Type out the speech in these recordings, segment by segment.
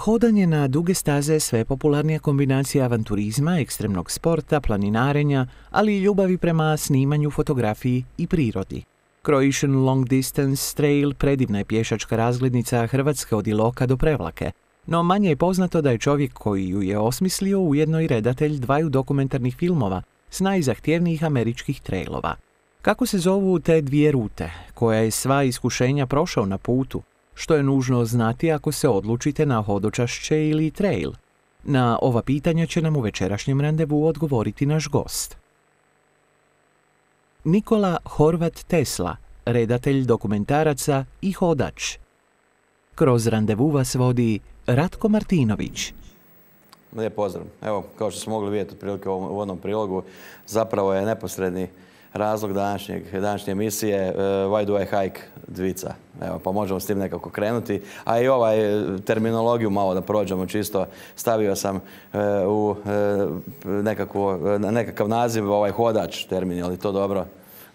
Hodanje na duge staze je sve popularnija kombinacija avanturizma, ekstremnog sporta, planinarenja, ali i ljubavi prema snimanju, fotografiji i prirodi. Croatian Long Distance Trail predivna je pješačka razglednica Hrvatske od Iloka do Prevlake, no manje je poznato da je čovjek koji ju je osmislio ujedno i redatelj dvaju dokumentarnih filmova s najzahtjevnijih američkih trailova. Kako se zovu te dvije rute, koja je sva iskušenja prošao na putu, što je nužno znati ako se odlučite na hodočašće ili trail? Na ova pitanja će nam u večerašnjem randevu odgovoriti naš gost. Nikola Horvat Tesla, redatelj dokumentaraca i hodač. Kroz randevu vas vodi Ratko Martinović. Lijep pozdrav. Evo, kao što smo mogli vidjeti otprilike u uvodnom prilogu, zapravo je neposredni razlog današnje emisije Why do I hike dvica. Evo, pa možemo s tim nekako krenuti. A i ovaj terminologiju malo da prođemo čisto. Stavio sam u nekakav naziv hodač termin, je li to dobro?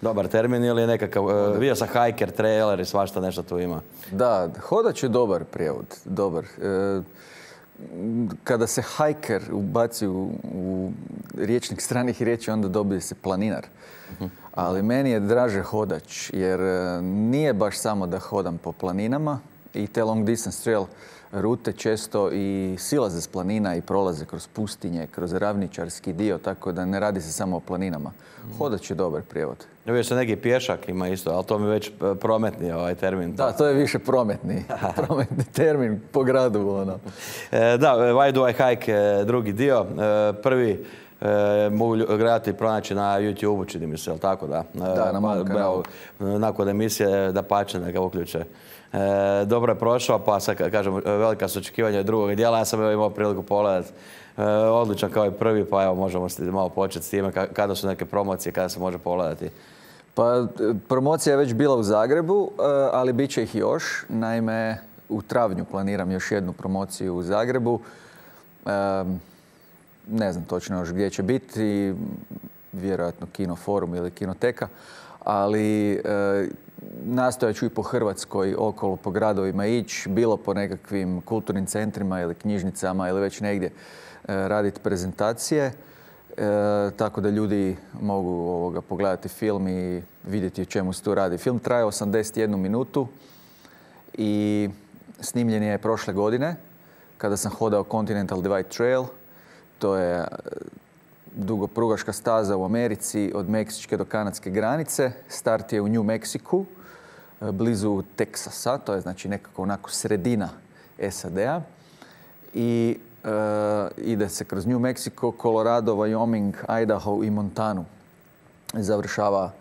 Dobar termin ili je nekakav, vidio sam hiker, trailer i svašta nešto tu ima. Da, hodač je dobar prijevod, dobar. Kada se hiker ubaci u riječnik stranih riječi, onda dobije se planinar. Ali meni je draže hodač, jer nije baš samo da hodam po planinama i te long distance trail rute često i silaze s planina i prolaze kroz pustinje, kroz ravničarski dio, tako da ne radi se samo o planinama. Hodač je dobar prijevod. Vidio se neki pješak ima isto, ali to mi već prometni ovaj termin. Da, to je više prometni termin po gradu. Da, Why do I hike drugi dio. Prvi mogu gledati i pronaći na YouTube-u, čini mi se, ali tako da? Da, na mom kanalu. Nakon emisije da pače, da ga uključe. Dobro je prošao, pa sad kažem, velika su očekivanja drugog dijela. Ja sam imao priliku pogledati. Odličan kao i prvi, pa evo možemo malo početi s time. Kada su neke promocije, kada se može pogledati? Pa promocija je već bila u Zagrebu, ali bit će ih još. Naime, u travnju planiram još jednu promociju u Zagrebu. Ne znam točno još gdje će biti, vjerojatno Kino Forum ili Kinoteka, ali nastojat ću i po Hrvatskoj okolo, po gradovima ići, bilo po nekakvim kulturnim centrima ili knjižnicama ili već negdje raditi prezentacije, tako da ljudi mogu pogledati film i vidjeti o čemu se tu radi. Film traje 81 minutu i snimljen je prošle godine kada sam hodao Continental Divide Trail. To je dugoprugaška staza u Americi od meksičke do kanadske granice. Start je u New Mexiku, blizu Teksasa, to je znači nekako onako sredina SAD-a. I ide se kroz New Mexico, Colorado, Wyoming, Idaho i Montanu. Završava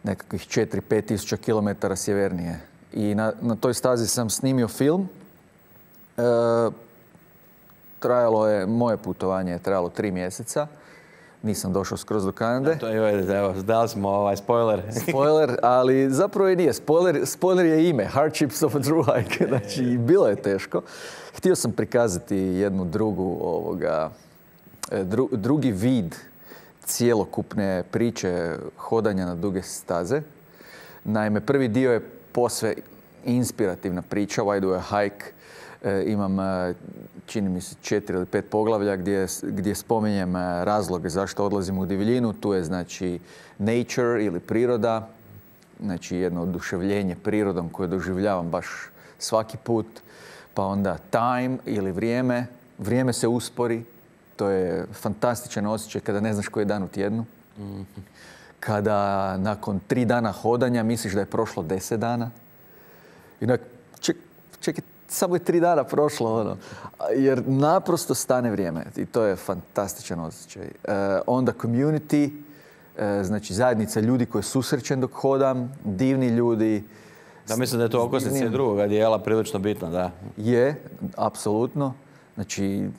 nekakvih 4-5 tisuća kilometara sjevernije. I na toj stazi sam snimio film. Moje putovanje je trajalo 3 mjeseca. Nisam došao skroz do Kanade. Evo, dali smo spoiler. Spoiler, ali zapravo i nije. Spoiler je ime. Hardships of a True Hike. Znači, bilo je teško. Htio sam prikazati jednu drugi vid cjelokupne priče hodanja na duge staze. Naime, prvi dio je posve inspirativna priča, Why do I hike? Imam, čini mi se, 4 ili 5 poglavlja gdje spominjem razloge zašto odlazim u divljinu. Tu je, znači, nature ili priroda, znači jedno oduševljenje prirodom koje doživljavam baš svaki put. Pa onda time ili vrijeme. Vrijeme se uspori. To je fantastičan osjećaj kada ne znaš koji je dan u tjednu. Kada nakon 3 dana hodanja misliš da je prošlo 10 dana. I čekaj, samo je 3 dana prošlo, jer naprosto stane vrijeme i to je fantastičan osjećaj. Onda community, znači zajednica ljudi koje susrećem dok hodam, divni ljudi. Da, mislim da je to okosnica drugoga dijela prilično bitno, da. Je, apsolutno. Znači,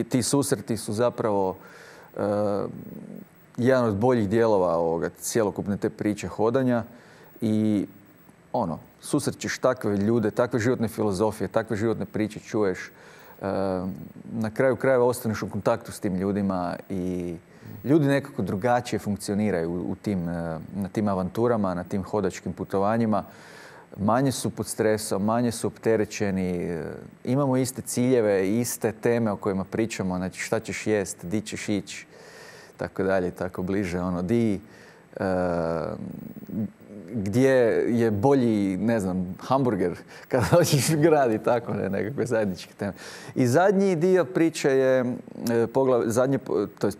ti susreti su zapravo jedan od boljih dijelova cjelokupne te priče hodanja i susrećeš takve ljude, takve životne filozofije, takve životne priče čuješ. Na kraju krajeva ostaneš u kontaktu s tim ljudima i ljudi nekako drugačije funkcioniraju na tim avanturama, na tim hodačkim putovanjima. manje su pod stresom, manje su opterećeni, imamo iste ciljeve, iste teme o kojima pričamo, znači šta ćeš jest, di ćeš ići, tako dalje, tako bliže, gdje je bolji, ne znam, hamburger kada hoćeš u grad i tako, nekakve zajedničke teme. I zadnji dio priče je,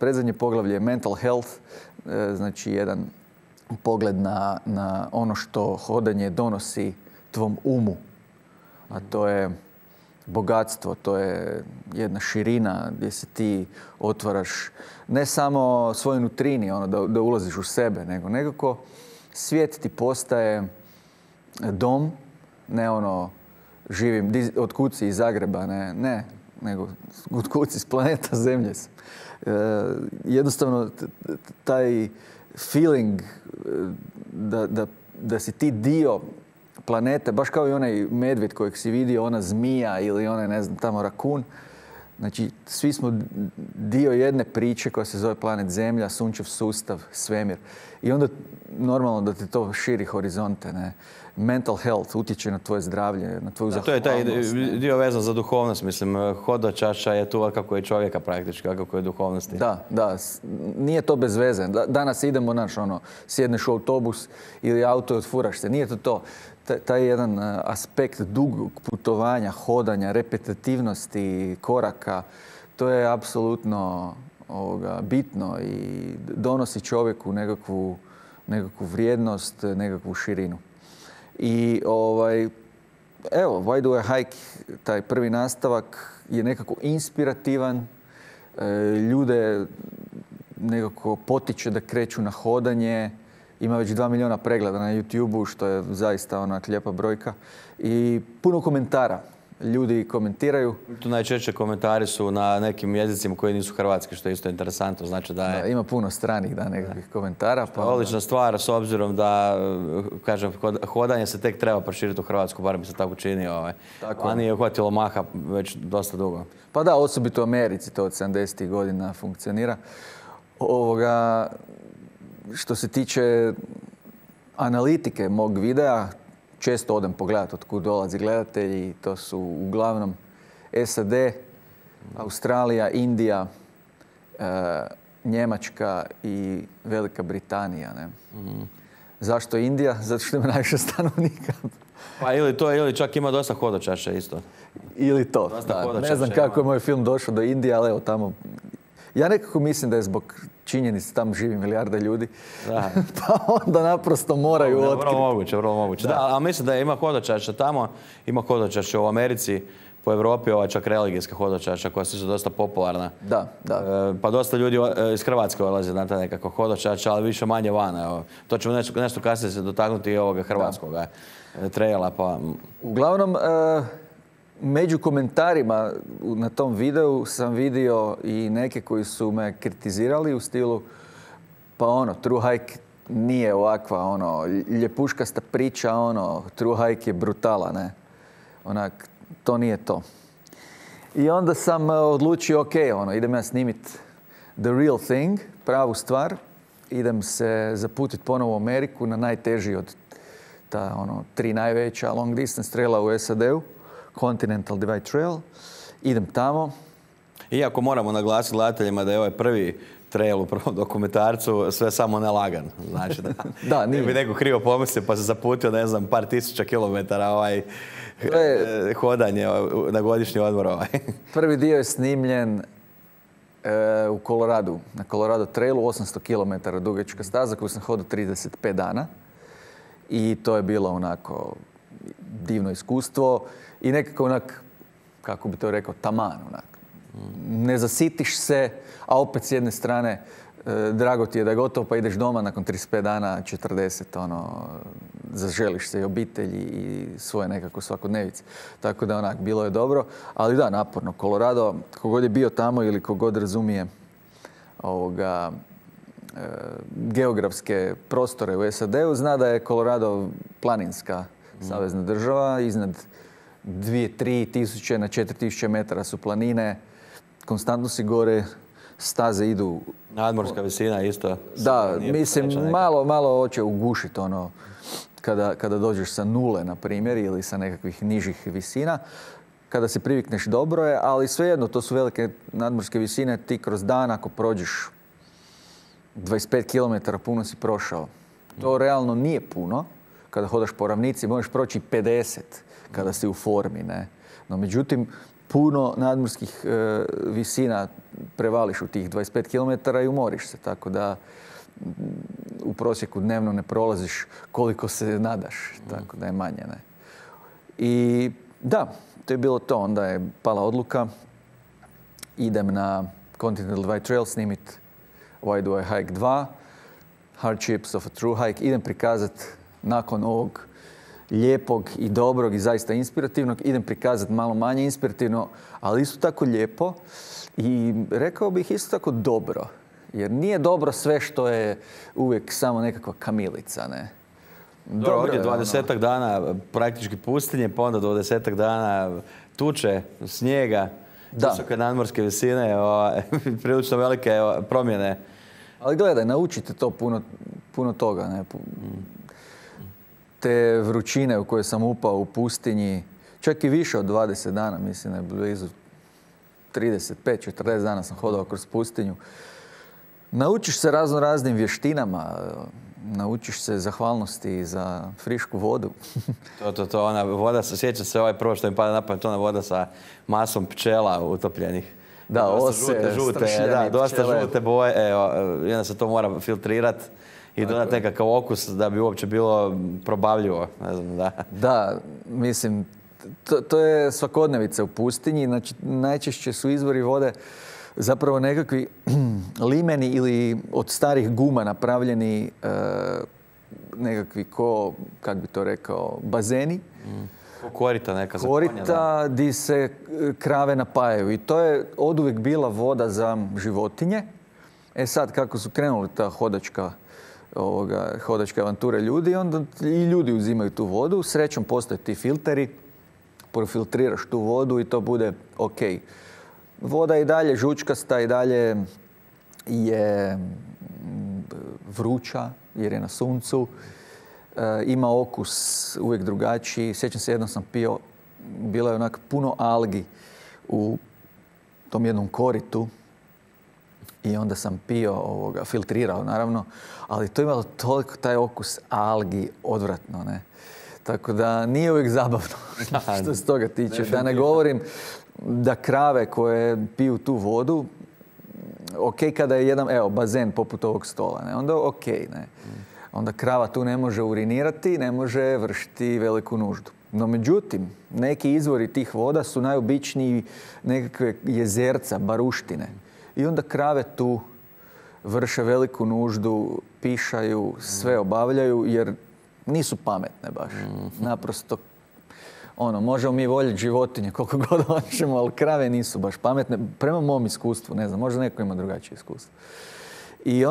predzadnje poglavlje je mental health, znači jedan pogled na ono što hodanje donosi tvom umu, a to je bogatstvo, to je jedna širina gdje se ti otvaraš ne samo svojoj nutrini, da ulaziš u sebe, nego nekako svijet ti postaje dom, ne živim od kući iz Zagreba, ne, nego od kući s planeta Zemlje. Jednostavno taj feeling da si ti dio planete, baš kao i onaj medvjed kojeg si vidio, ona zmija ili onaj, ne znam, tamo rakun. Znači, svi smo dio jedne priče koja se zove planet Zemlja, sunčev sustav, svemir. I onda normalno da ti to širi horizonte, ne. Mental health utječe na tvoje zdravlje, na tvoju zahvalnost. To je taj dio vezan za duhovnost, mislim. Hodočašća je tu kako je čovjeka praktički, kako je duhovnosti. Da. Nije to bez veze. Danas idemo, sjedneš u autobus ili auto i odfuraš se. Nije to. Taj jedan aspekt dugog putovanja, hodanja, repetitivnosti, koraka, to je apsolutno bitno i donosi čovjeku nekakvu vrijednost, nekakvu širinu. I evo, Why Do I Hike, taj prvi nastavak je nekako inspirativan, ljude nekako potiče da kreću na hodanje, ima već 2 milijuna pregleda na YouTube-u, što je zaista lijepa brojka. I puno komentara. Ljudi komentiraju. Tu najčešće komentari su na nekim jezicima koji nisu hrvatski, što je isto interesantno. Znači da ima puno stranih nekakvih komentara. Odlična stvar, s obzirom da, kažem, hodanje se tek treba proširiti u Hrvatsku, bar mi se tako čini. A nije uhvatilo maha već dosta dugo. Pa da, osobito u Americi to od 70. godina funkcionira. Što se tiče analitike mog videa, često odem pogledati od kud dolazi gledatelji. To su uglavnom SAD, Australija, Indija, Njemačka i Velika Britanija. Ne? Zašto Indija? Zato što ima najviše stanovnika. Pa ili to, ili čak ima dosta hodočaša isto. Ili to, da. Ne znam kako je moj film došao do Indije, ali evo tamo. Ja nekako mislim da je zbog činjenice tamo živi milijarda ljudi, pa onda naprosto moraju otkriti. Vrlo moguće. Da, ali mislim da ima hodočaša tamo, ima hodočaša u Americi, po Europi, čak religijska hodočaša koja su dosta popularna. Da. Pa dosta ljudi iz Hrvatske odlaze na ta nekako hodočaša, ali više manje van. To ćemo nešto kasnije se dotaknuti i ovoga hrvatskog traila. Pa... Uglavnom, među komentarima na tom videu sam vidio i neke koji su me kritizirali u stilu True Hike nije ovakva, ljepuškasta priča, True Hike je brutala, ne. To nije to. I onda sam odlučio, idem ja snimit the real thing, pravu stvar. Idem se zaputiti ponovo u Ameriku na najteži od ta 3 najveća long distance traila u SAD-u. Continental Divide Trail. Idem tamo. Iako moramo naglasiti gledateljima da je ovaj prvi trail u prvom dokumentarcu sve samo nelagan. Znači da ne bi neko krivo pomislio pa se zaputio, ne znam, par tisuća kilometara hodanje na godišnji odmor. Prvi dio je snimljen u Koloradu, na Colorado Trailu, 800 km dugačka staza koju sam hodao 35 dana. I to je bilo divno iskustvo. I nekako kako bi to rekao, taman. Ne zasitiš se, a opet s jedne strane drago ti je da je gotovo, pa ideš doma nakon 35 dana, 40, zaželiš se i obitelji i svoje nekako svakodnevice. Tako da bilo je dobro, ali da, naporno. Colorado, kogod je bio tamo ili kogod razumije geografske prostore u SAD-u, zna da je Colorado planinska savezna država, iznad 2-3 tisuće na 4 tisuće metara su planine, konstantno si gore, staze idu... Nadmorska visina isto. Da, mislim, malo hoće ugušiti kada dođeš sa nule, na primjer, ili sa nekakvih nižih visina. Kada se privikneš dobro je, ali svejedno, to su velike nadmorske visine. Ti kroz dan, ako prođeš 25 km, puno si prošao. To realno nije puno. Kada hodaš po ravnici, možeš proći 50 kada si u formi, ne? No, međutim, puno nadmorskih visina prevališ u tih 25 km i umoriš se, tako da u prosjeku dnevno ne prolaziš koliko se nadaš, tako da je manje, ne? I da, to je bilo to. Onda je pala odluka. Idem na Continental Divide Trail snimit Why Do I Hike 2, Hardships of a True Hike. Idem prikazati nakon ovog lijepog i dobrog i zaista inspirativnog, idem prikazati malo manje inspirativno, ali isto tako lijepo i rekao bih isto tako dobro. Jer nije dobro sve što je uvijek samo nekakva kamilica, ne? Dobro, ovdje 20-ak dana praktički pustinje, pa onda 20-ak dana tuče, snijega, visoke nadmorske visine, prilično velike promjene. Ali gledaj, naučite to puno toga, ne? Te vrućine u koje sam upao u pustinji, čak i više od 20 dana, mislim da je blizu 35-40 dana sam hodao kroz pustinju. Naučiš se raznim vještinama, naučiš se zahvalnosti za frišku vodu. To, ona voda, sjeća se prvo što mi pada na pamet, ona voda sa masom pčela utopljenih. Da, ose, žute, dosta žute boje, i onda se to mora filtrirati i dodati nekakav okus da bi uopće bilo probavljivo. Ne znam, da. Da, mislim, to je svakodnevica u pustinji. Znači, najčešće su izvori vode zapravo nekakvi limeni ili od starih guma napravljeni nekakvi kak bi to rekao, bazeni. Korita neka. Korita di se krave napajaju. I to je oduvijek bila voda za životinje. Sad, kako su krenuli ta hodačke avanture ljudi, onda i ljudi uzimaju tu vodu. Srećom postoje ti filteri, profiltriraš tu vodu i to bude ok. Voda je i dalje žučkasta, i dalje je vruća jer je na suncu. Ima okus uvijek drugačiji. Sjećam se, jednom sam pio, bilo je onak puno algi u tom jednom koritu i onda sam pio, filtrirao naravno, ali to je imalo toliko taj okus algi odvratno, ne? Tako da nije uvijek zabavno što se toga tiče. Da ne govorim da krave koje piju tu vodu, ok kada je jedan, bazen poput ovog stola, ne? Onda ok, ne? Onda krava tu ne može urinirati, ne može vršiti veliku nuždu. No međutim, neki izvori tih voda su najobičniji nekakve jezerca, baruštine. I onda krave tu vrše veliku nuždu, pišaju, sve obavljaju jer nisu pametne baš. Naprosto, možemo mi voljeti životinje koliko god hoćemo, ali krave nisu baš pametne. Prema mom iskustvu, ne znam, možda neko ima drugačije iskustvo. I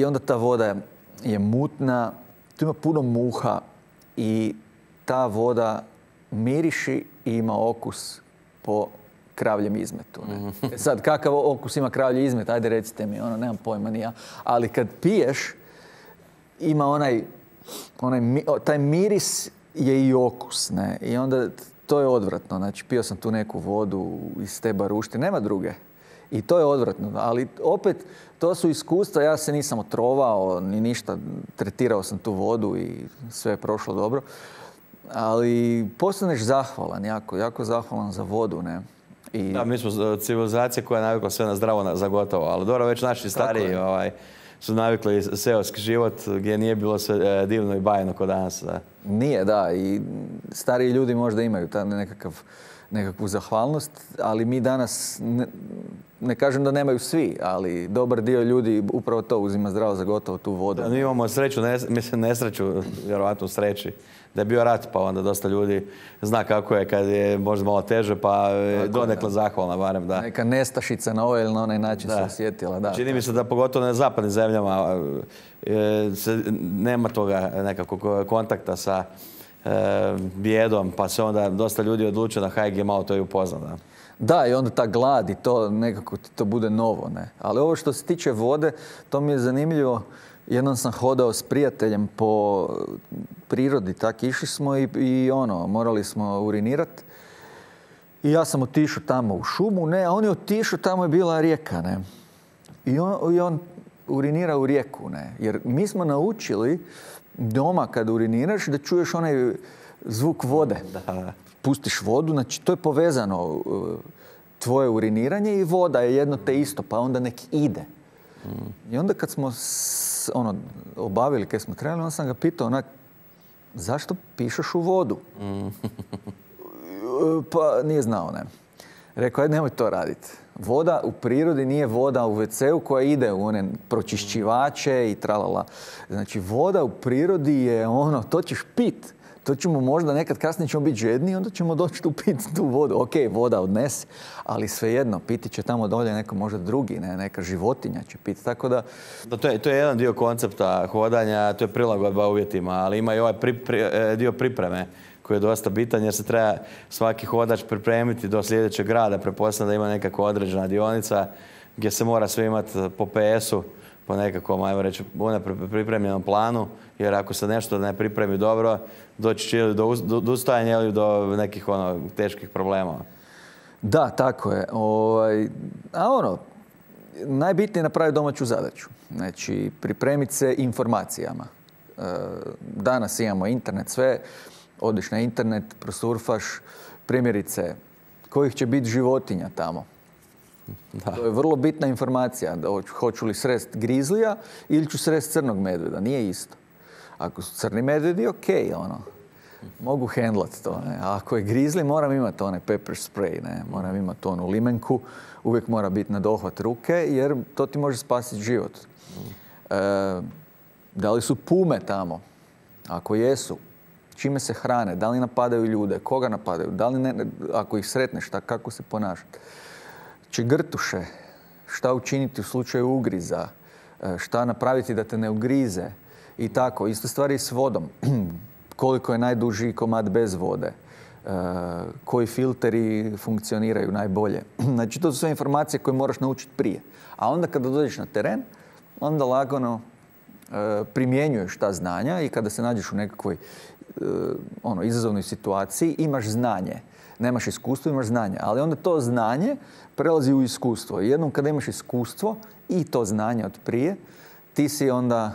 onda ta voda je mutna, tu ima puno muha i ta voda miriši i ima okus po kravljem izmetu. Ne? Sad, kakav okus ima kravlji izmet? Ajde recite mi, nemam pojma ni ja. Ali kad piješ, ima taj miris je i okus. Ne? I onda to je odvratno. Znači, pio sam tu neku vodu iz te barušte, nema druge. I to je odvratno. Ali opet, to su iskustva, ja se nisam otrovao ni ništa, tretirao sam tu vodu i sve je prošlo dobro. Ali postaneš zahvalan, jako zahvalan za vodu, ne? Da, mi smo civilizacija koja je navikla sve na zdravo za gotovo, ali dobro, već naši stariji su navikli seoski život gdje nije bilo sve divno i bajno kod danas. Da. Nije, da, i stariji ljudi možda imaju nekakvu zahvalnost, ali mi danas, ne kažem da nemaju svi, ali dobar dio ljudi upravo to uzima zdravo za gotovo, tu vodu. Da, mi imamo sreću, nesreću, vjerovatno sreći, da je bio rat, pa onda dosta ljudi zna kako je kad je možda malo teže, pa donekle zahvalna barem. Da. Neka nestašica na ovaj ili na onaj način se osjetila. Da, čini mi se da pogotovo na zapadnim zemljama nema toga nekakvog kontakta sa bijedom, pa se onda dosta ljudi odlučuje na hajk je malo to i upozna. Da, i onda ta glad i to nekako ti to bude novo, ne? Ali ovo što se tiče vode, to mi je zanimljivo Jednom sam hodao s prijateljem po prirodi, tak išli smo i morali smo urinirati. I ja sam otišao tamo u šumu, a on je otišao, tamo je bila rijeka, ne. I on urinira u rijeku, ne. Jer mi smo naučili doma kad uriniraš da čuješ onaj zvuk vode. Da. Pustiš vodu, znači to je povezano, tvoje uriniranje i voda je jedno te isto, pa onda nek ide. I onda kad smo obavili, kad smo trebali, onda sam ga pitao zašto pišeš u vodu? Pa nije znao, ne. Rekao, ajde nemoj to raditi. Voda u prirodi nije voda u WC-u koja ide u one pročišćivače i tralala. Znači, voda u prirodi je to ćeš pit. To ćemo možda nekad kasnije ćemo biti žedni i onda ćemo doći tu piti tu vodu. Ok, voda odnesi, ali svejedno, piti će tamo dolje neko možda drugi, neka životinja će piti. Tako da... To je jedan dio koncepta hodanja, to je prilagodba uvjetima, ali ima i ovaj dio pripreme koji je dosta bitan jer se treba svaki hodač pripremiti do sljedećeg grada. Pretpostavljam da ima nekakva određena dionica gdje se mora sve imati po PS-u, po nekakvom, ajmo reći, pripremljenom planu, jer ako se nešto ne pripremi dobro, doći će ili do odustajanja ili do nekih teških problema. Da, tako je. Najbitnije je napraviti domaću zadaću. Znači, pripremiti se informacijama. Danas imamo internet, sve. Odiš na internet, prosurfaš, primjerice, kojih će biti životinja tamo. Da. To je vrlo bitna informacija. Hoću li srest grizlija ili ću srest crnog medvjeda. Nije isto. Ako su crni medvjedi, ok, mogu hendlat to. Ne? A ako je grizli, moram imati onaj pepper spray, ne? Moram imati onu limenku. Uvijek mora biti na dohvat ruke, jer to ti može spasiti život. Da li su pume tamo? Ako jesu, čime se hrane? Da li napadaju ljude? Koga napadaju? Da li ako ih sretneš, kako se ponašati? Grtuše, šta učiniti u slučaju ugriza, šta napraviti da te ne ugrize i tako. Isto stvari s vodom. Koliko je najduži komad bez vode, koji filteri funkcioniraju najbolje. Znači, to su sve informacije koje moraš naučiti prije. A onda kada dođeš na teren, onda lagano primjenjuješ ta znanja i kada se nađeš u nekakvoj izazovnoj situaciji, imaš znanje. Nemaš iskustvo, imaš znanje. Ali onda to znanje prelazi u iskustvo. Jednom kada imaš iskustvo i to znanje od prije, ti si onda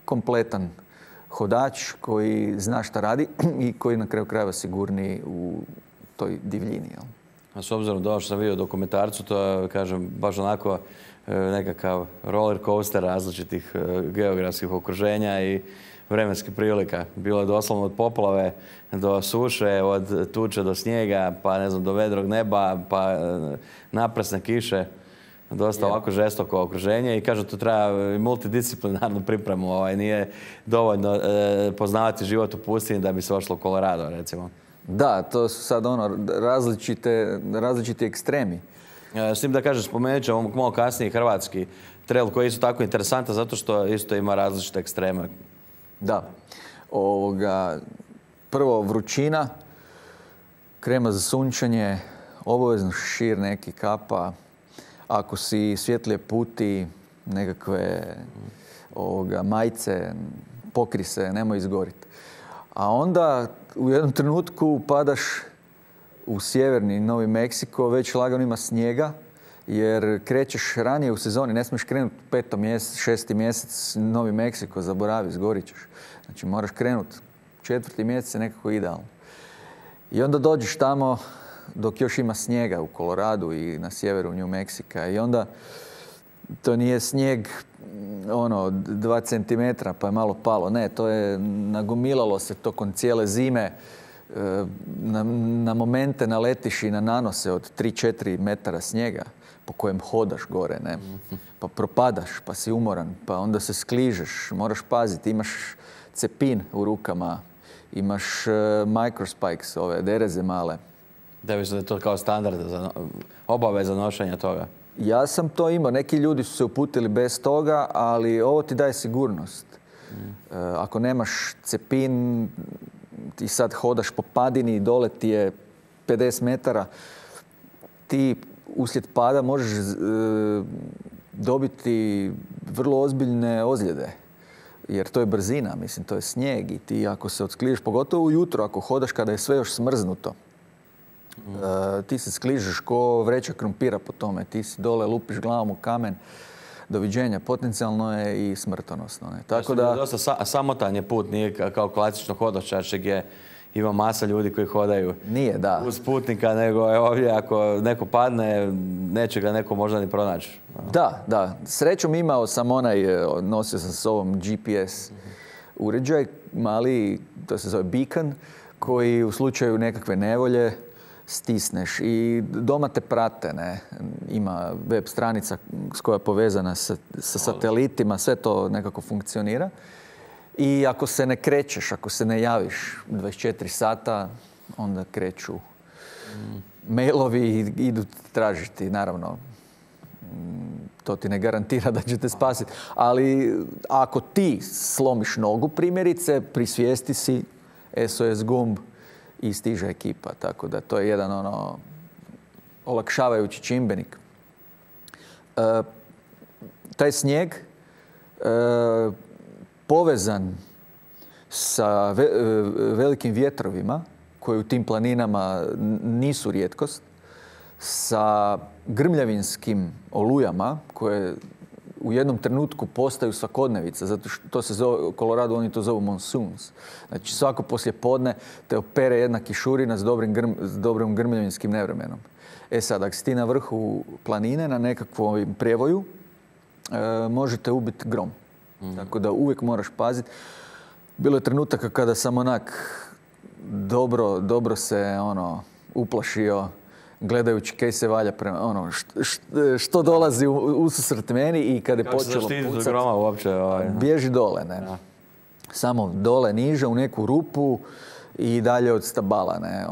kompletan hodač koji zna šta radi i koji na kraju krajeva sigurniji u toj divljini. Jel? A s obzirom da ovo što sam vidio u dokumentarcu, to je, kažem, baš onako nekakav roller coaster različitih geografskih okruženja i vremenskih prilika. Bilo je doslovno od poplave do suše, od tuče do snijega, pa ne znam, do vedrog neba, pa naprasne kiše. Dosta ovako žestoko okruženje i kažu to treba multidisciplinarnu pripremu. Nije dovoljno poznavati život u pustinji da bi se ošlo u Colorado, recimo. Da, to su sad različiti ekstremi. S tim da kažem, spomenut ćemo malo kasnije hrvatski trail koji je isto tako interesantan zato što isto ima različite ekstreme. Da. Prvo vrućina, krema za sunčanje, obavezno šešir neki, kapa. Ako si svjetlije puti, nekakve majice, pokri se, nemoj izgoriti. A onda u jednom trenutku padaš u sjeverni Novi Meksiko, već lagano ima snijega, jer krećeš ranije u sezoni, ne smiješ krenuti 5. mjesec, 6. mjesec Novi Meksiko, zaboravi, zgorit ćeš. Znači moraš krenuti. 4. mjesec je nekako idealno. I onda dođeš tamo dok još ima snijega u Koloradu i na sjeveru New Meksika. I onda to nije snijeg 2 centimetra pa je malo palo. Ne, to je nagomilalo se tokom cijele zime. Na momente naletiš i na nanose od 3-4 metara snijega po kojem hodaš gore, ne? Pa propadaš, pa si umoran, pa onda se skližeš, moraš paziti, imaš cepin u rukama, imaš microspikes, ove dereze male. Da bi se to kao standard, obaveza nošenja toga? Ja sam to imao. Neki ljudi su se uputili bez toga, ali ovo ti daje sigurnost. Ako nemaš cepin i sad hodaš po padini i dole ti je 50 metara, ti uslijed pada možeš dobiti vrlo ozbiljne ozljede. jer to je brzina, mislim, to je snijeg i ti ako se odskližeš, pogotovo ujutro ako hodaš kada je sve još smrznuto, ti se skližeš ko vreća krumpira po tome, ti si dole lupiš glavom u kamen, doviđenja, potencijalno je i smrtonosno. Ne? Tako da... Dosta samotan je put, nije kao klasično hodočašće gdje ima masa ljudi koji hodaju nije, da. Uz putnika, nego ovdje ako neko padne, neće ga neko možda ni pronaći. Da. Srećom imao sam nosio sam s ovom GPS uređaj, mali, to se zove beacon, koji u slučaju nekakve nevolje stisneš i doma te prate, ne? Ima web stranica s koja je povezana sa satelitima, sve to nekako funkcionira. I ako se ne krećeš, ako se ne javiš 24 sata, onda kreću mailovi i idu tražiti, naravno. To ti ne garantira da će te spasiti. Ali ako ti slomiš nogu, primjerice, pri svijesti si SOS gumb i stiže ekipa. Tako da to je jedan olakšavajući čimbenik. Taj snijeg povezan sa velikim vjetrovima koji u tim planinama nisu rijetkost, sa grmljavinskim olujama koje u jednom trenutku postaju svakodnevica, zato što to se zove, u Koloradu oni to zovu monsoons. Znači svako poslijepodne te opere jedna kišurina s dobrim grmljavinskim nevremenom. Sad, ako si ti na vrhu planine, na nekakvom prijevoju, možete ubiti grom. Tako da uvijek moraš paziti. Bilo je trenutaka kada sam dobro se uplašio gledajući kaj se valja prema što dolazi ususret meni i kad je počelo pucat, groma uopće, bježi dole, ne. Ja. Samo dole niže u neku rupu i dalje od stabala, ne.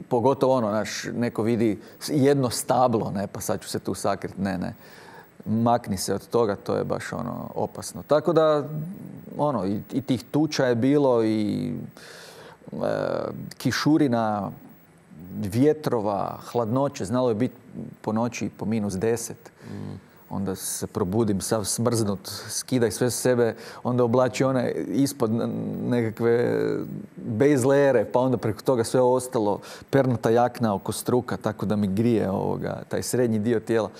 Pogotovo neko vidi jedno stablo, ne, pa sad ću se tu sakriti, ne. Makni se od toga, to je baš opasno. Tako da, i tih tuča je bilo i kišurina, vjetrova, hladnoće, znalo je biti po noći po -10. Onda se probudim sav smrznut, skidaj sve s sebe, onda oblači ispod nekakve base layere, pa onda preko toga sve ostalo, pernata jakna oko struka, tako da mi grije taj srednji dio tijela.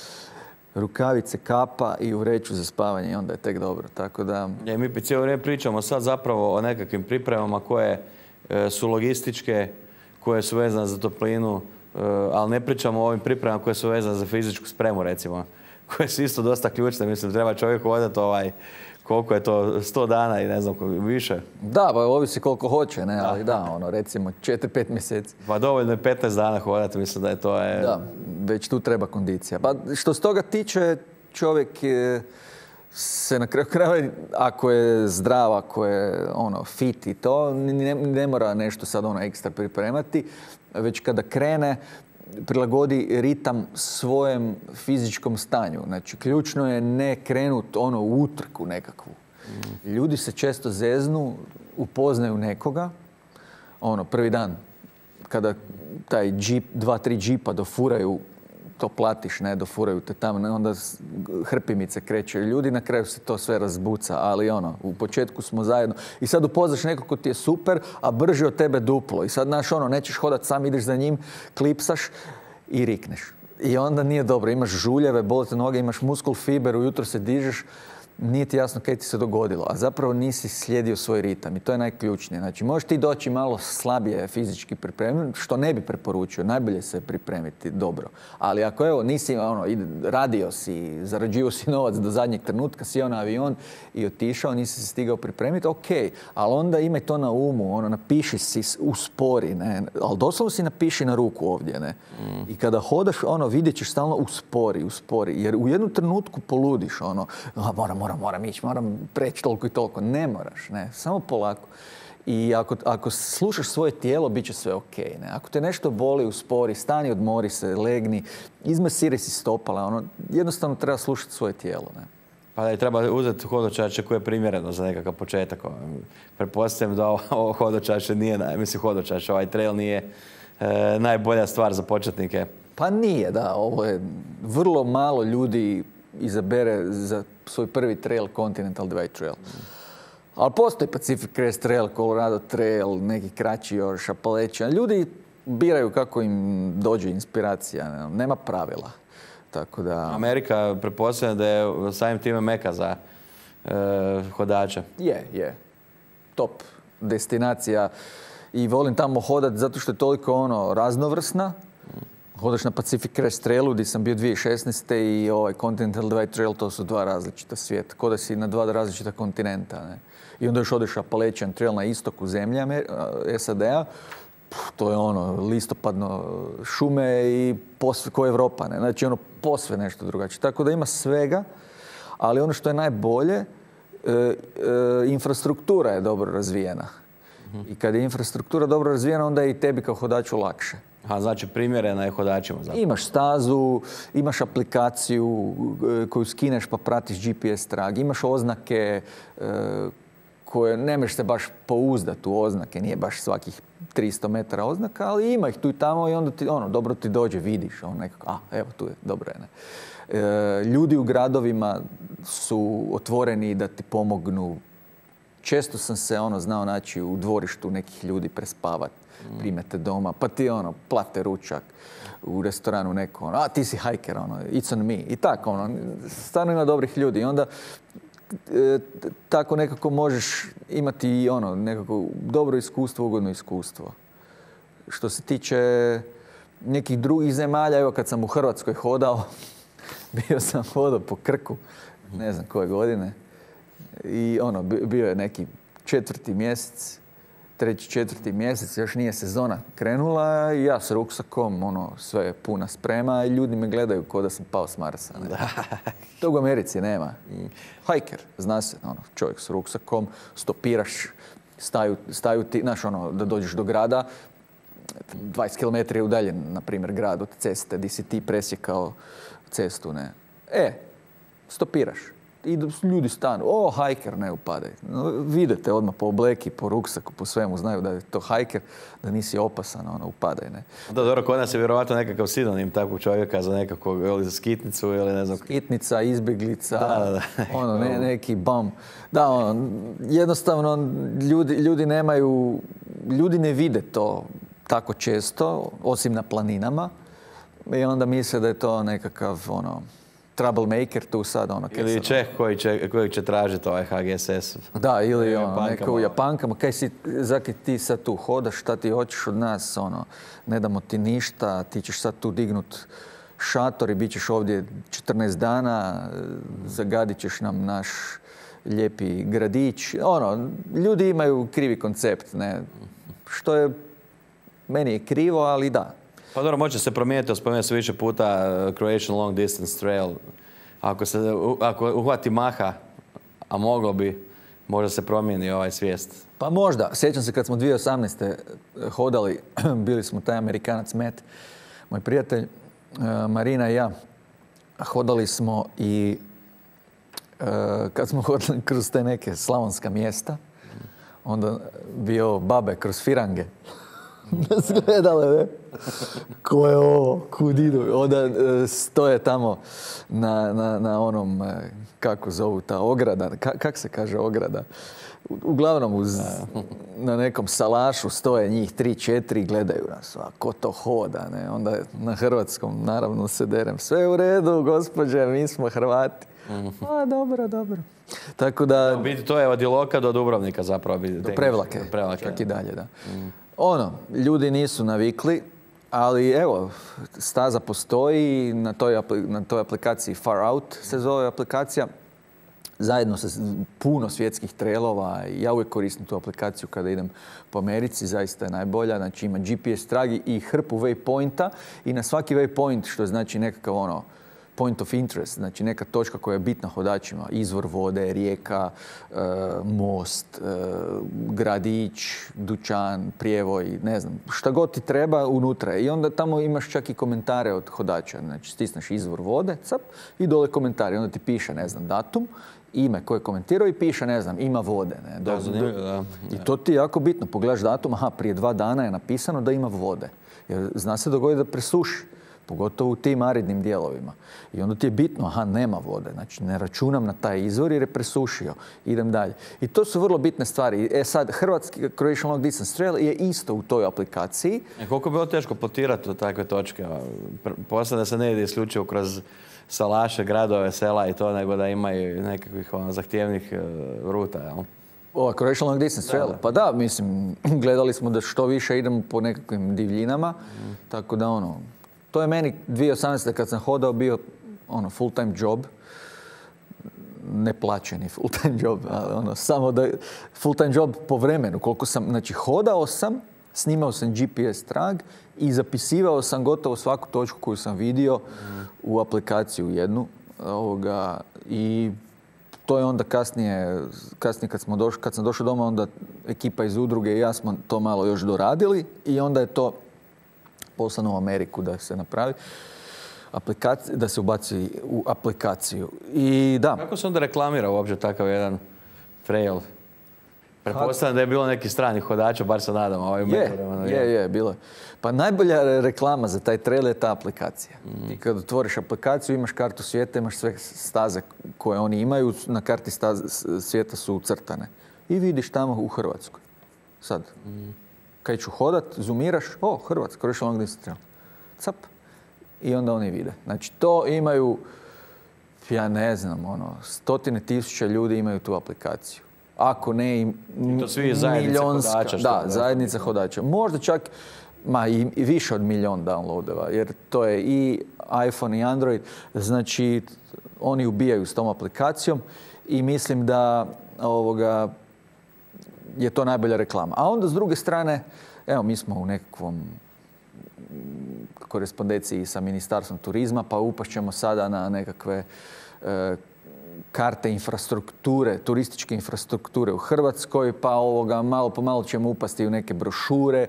Rukavice, kapa i u vreću za spavanje i onda je tek dobro. Tako da... Mi cijelo vrijeme pričamo sad zapravo o nekakvim pripremama koje su logističke, koje su vezane za toplinu, ali ne pričamo o ovim pripremama koje su vezane za fizičku spremu, recimo, koje su isto dosta ključne. Mislim, treba čovjek hodati koliko je to, 100 dana i ne znam više. Da, pa ovisi koliko hoće, ne, ali recimo 4-5 mjeseci. Pa dovoljno je 15 dana hodati, mislim da je to... Da, već tu treba kondicija. Pa što se toga tiče, čovjek se na kraju krajeva, ako je zdrav, ako je fit i to, ne mora nešto sad ekstra pripremati, već kada krene, prilagodi ritam svojem fizičkom stanju. Znači, ključno je ne krenuti u utrku nekakvu. Ljudi se često zeznu, upoznaju nekoga, prvi dan, kada taj džip, 2-3 džipa dofuraju, to platiš, ne, dofuraju te tamo, onda hrpimice kreće. Ljudi na kraju se to sve razbuca, ali u početku smo zajedno. I sad upoznaš nekog ko ti je super, a brži od tebe duplo. I sad, nećeš hodati sam, ideš za njim, klipsaš i rikneš. I onda nije dobro. Imaš žuljeve, bole te noge, imaš muskul fiber, ujutro se dižeš, nije ti jasno kaj ti se dogodilo, a zapravo nisi slijedio svoj ritam i to je najključnije. Znači, možeš ti doći malo slabije fizički pripremljen, što ne bi preporučio, najbolje se pripremiti dobro. Ali ako nisi, radio si, zarađivao si novac do zadnjeg trenutka, sjeo na avion i otišao, nisi se stigao pripremiti, ok, ali onda imaj to na umu, napiši si uspori, ne, ali doslovno si napiši na ruku ovdje, ne. I kada hodaš, vidjet ćeš stalno uspori, jer u jednom trenutku poludiš, moram ići, moram preći toliko i toliko. Ne moraš, ne, samo polako. I ako slušaš svoje tijelo, bit će sve ok. Ne? Ako te nešto boli, uspori, stani, odmori se, legni, izmasiraj si stopala. Jednostavno treba slušati svoje tijelo. Ne? Pa da treba uzeti hodočašće koje je primjereno za nekakav početak. Pretpostavljam da ovo hodočašće nije, hodočašće, ovaj trail nije najbolja stvar za početnike. Pa nije, da. Ovo je vrlo malo ljudi izabere za svoj prvi trail Continental Divide Trail. Ali postoji Pacific Crest Trail, Colorado Trail, neki kraći još, Appalachian. Ljudi biraju kako im dođe inspiracija, nema pravila. Tako da... Amerika pretpostavlja da je samim time meka za hodača. Je. Top destinacija. I volim tamo hodat zato što je toliko raznovrsna. Hodaš na Pacific Crest Trailu gdje sam bio 2016. i ovaj Continental Divide Trail, to su dva različita svijeta. Ko da si na dva različita kontinenta. Ne? I onda još odeš Appalachian Trail na istoku zemlje SAD-a. To je listopadno šume i posve ko Evropa. Ne? Znači posve nešto drugačije. Tako da ima svega, ali ono što je najbolje, infrastruktura je dobro razvijena. I kad je infrastruktura dobro razvijena, onda je i tebi kao hodaču lakše. Znači primjerena je hodačima. Zapravo. Imaš stazu, imaš aplikaciju koju skineš pa pratiš GPS trag, imaš oznake koje ne možeš se baš pouzdati u oznake, nije baš svakih 300 metara oznaka, ali ima ih tu i tamo i onda ti, dobro ti dođe, vidiš, nekako, evo tu je, dobro je. Ne? Ljudi u gradovima su otvoreni da ti pomognu. Često sam se znao naći u dvorištu nekih ljudi prespavat, primete doma, pa ti plate ručak u restoranu neko, ti si hajker, it's on me. I tako, stvarno ima dobrih ljudi. I onda tako nekako možeš imati i nekako dobro iskustvo, ugodno iskustvo. Što se tiče nekih drugih zemalja, evo kad sam u Hrvatskoj hodao, bio sam hodao po Krku, ne znam koje godine, i bio je neki 4. mjesec, 3. 4. mjesec, još nije sezona krenula i ja s ruksakom, sve je puna sprema i ljudi me gledaju kao da sam pao s Marsa. To u Americi nema. Hajker, zna se, čovjek s ruksakom, stopiraš, staju ti, znaš, da dođeš do grada, 20 km je udaljen, na primjer, grad od ceste, di si ti presjekao cestu, ne. Stopiraš. I ljudi stanu, hajker, ne upadaj. Vidite odmah po obleki, po ruksaku, po svemu, znaju da je to hajker, da nisi opasan, upadaj, ne. Da, dobro, kod nas je vjerovatno nekakav sinonim takvog čovjeka za nekakvog, ili za skitnicu, ili ne znam. Skitnica, izbjeglica, neki bum. Da, jednostavno, ljudi nemaju, ljudi ne vide to tako često, osim na planinama, i onda misle da je to nekakav, troublemaker tu sad, ili Čeh koji će tražiti ovaj HGSS. Da, ili neko u Japankama. Kaj si, zakaj ti sad tu hodaš, šta ti hoćeš od nas, ne damo ti ništa, ti ćeš sad tu dignut šator i bit ćeš ovdje 14 dana, zagadit ćeš nam naš lijepi gradić. Ljudi imaju krivi koncept, ne. Što je, meni je krivo, ali da. Pa dobro, može se promijeniti, spomenuo se više puta Croatian Long Distance Trail. Ako uhvati maha, a moglo bi, možda se promijeni ovaj svijest. Pa možda. Sjećam se kad smo 2018. hodali, bili smo taj Amerikanac Matt, moj prijatelj, Marina i ja, hodali smo i kad smo hodali kroz te neke slavonska mjesta, onda bio babe kroz firange. Nas gledale, ne? Ko je ovo? Kud idu? Onda stoje tamo na onom, kako zovu ta ograda, kak se kaže ograda? Uglavnom na nekom salašu stoje njih 3-4 i gledaju nas. A ko to hoda? Ne? Onda na hrvatskom naravno se derem. Sve u redu, gospođe, mi smo Hrvati. A, dobro. Tako da... Biti to je od Iloka do Dubrovnika zapravo. Do Prevlake. Čak i dalje, da. Ljudi nisu navikli, ali evo, staza postoji, na toj aplikaciji Far Out se zove aplikacija, zajedno sa puno svjetskih trailova. Ja uvijek koristim tu aplikaciju kada idem po Americi, zaista je najbolja. Znači ima GPS tragi i hrpu waypointa i na svaki waypoint, što znači nekakav point of interest, znači neka točka koja je bitna hodačima, izvor vode, rijeka, most, gradić, dućan, prijevoj, ne znam, šta god ti treba unutra. I onda tamo imaš čak i komentare od hodača, znači stisneš izvor vode, cap, i dole komentari, onda ti piše, ne znam, datum, ime koje je komentirao i piše, ne znam, ima vode. Ne? Da. I to ti je jako bitno, pogledaš datum, prije 2 dana je napisano da ima vode. Jer zna se dogoditi da presuši. pogotovo u tim aridnim dijelovima. I onda ti je bitno, aha, nema vode, znači ne računam na taj izvor jer je presušio, idem dalje. I to su vrlo bitne stvari. Sad, hrvatski Croatian Long Distance Trail je isto u toj aplikaciji. Koliko je bilo teško potirati u takve točke? Posle da se ne ide isključivo kroz salaše, gradove, sela i to, nego da imaju nekakvih zahtjevnih ruta, jel? Ova Croatian Long Distance Trail? Pa da, mislim, gledali smo da što više idemo po nekakvim divljinama, tako da to je meni 2018. kad sam hodao bio full time job, neplaćeni full time job, samo da full time job po vremenu, koliko sam, znači hodao sam, snimao sam GPS trag i zapisivao sam gotovo svaku točku koju sam vidio u aplikaciju jednu i to je onda kasnije kad sam došao doma, onda ekipa iz udruge i ja smo to malo još doradili i onda je to poslano u Ameriku da se napravi, da se ubaci u aplikaciju. I da. Kako se onda reklamira uopće takav jedan trail? Pretpostavljam da je bilo neki stranih hodača, bar se nadam. Je, bilo je. Pa najbolja reklama za taj trail je ta aplikacija. I kad otvoriš aplikaciju, imaš kartu svijeta, imaš sve staze koje oni imaju, na karti svijeta su ucrtane. I vidiš tamo u Hrvatskoj. Sad, kad ću hodat, zoomiraš, Hrvatska, Croatian Long Distance Trail. Cap. I onda oni vide. Znači, to imaju, ja ne znam, stotine tisuća ljudi imaju tu aplikaciju. Ako ne i to svi zajednice hodača. Da, zajednica hodača. Možda čak i više od 1 milion downloadova, jer to je i iPhone i Android. Znači, oni ubijaju s tom aplikacijom i mislim da je to najbolja reklama. A onda s druge strane, evo, mi smo u nekakvom korespondenciji sa Ministarstvom turizma, pa upašćemo sada na nekakve karte infrastrukture, turističke infrastrukture u Hrvatskoj, pa malo po malo ćemo upasti u neke brošure,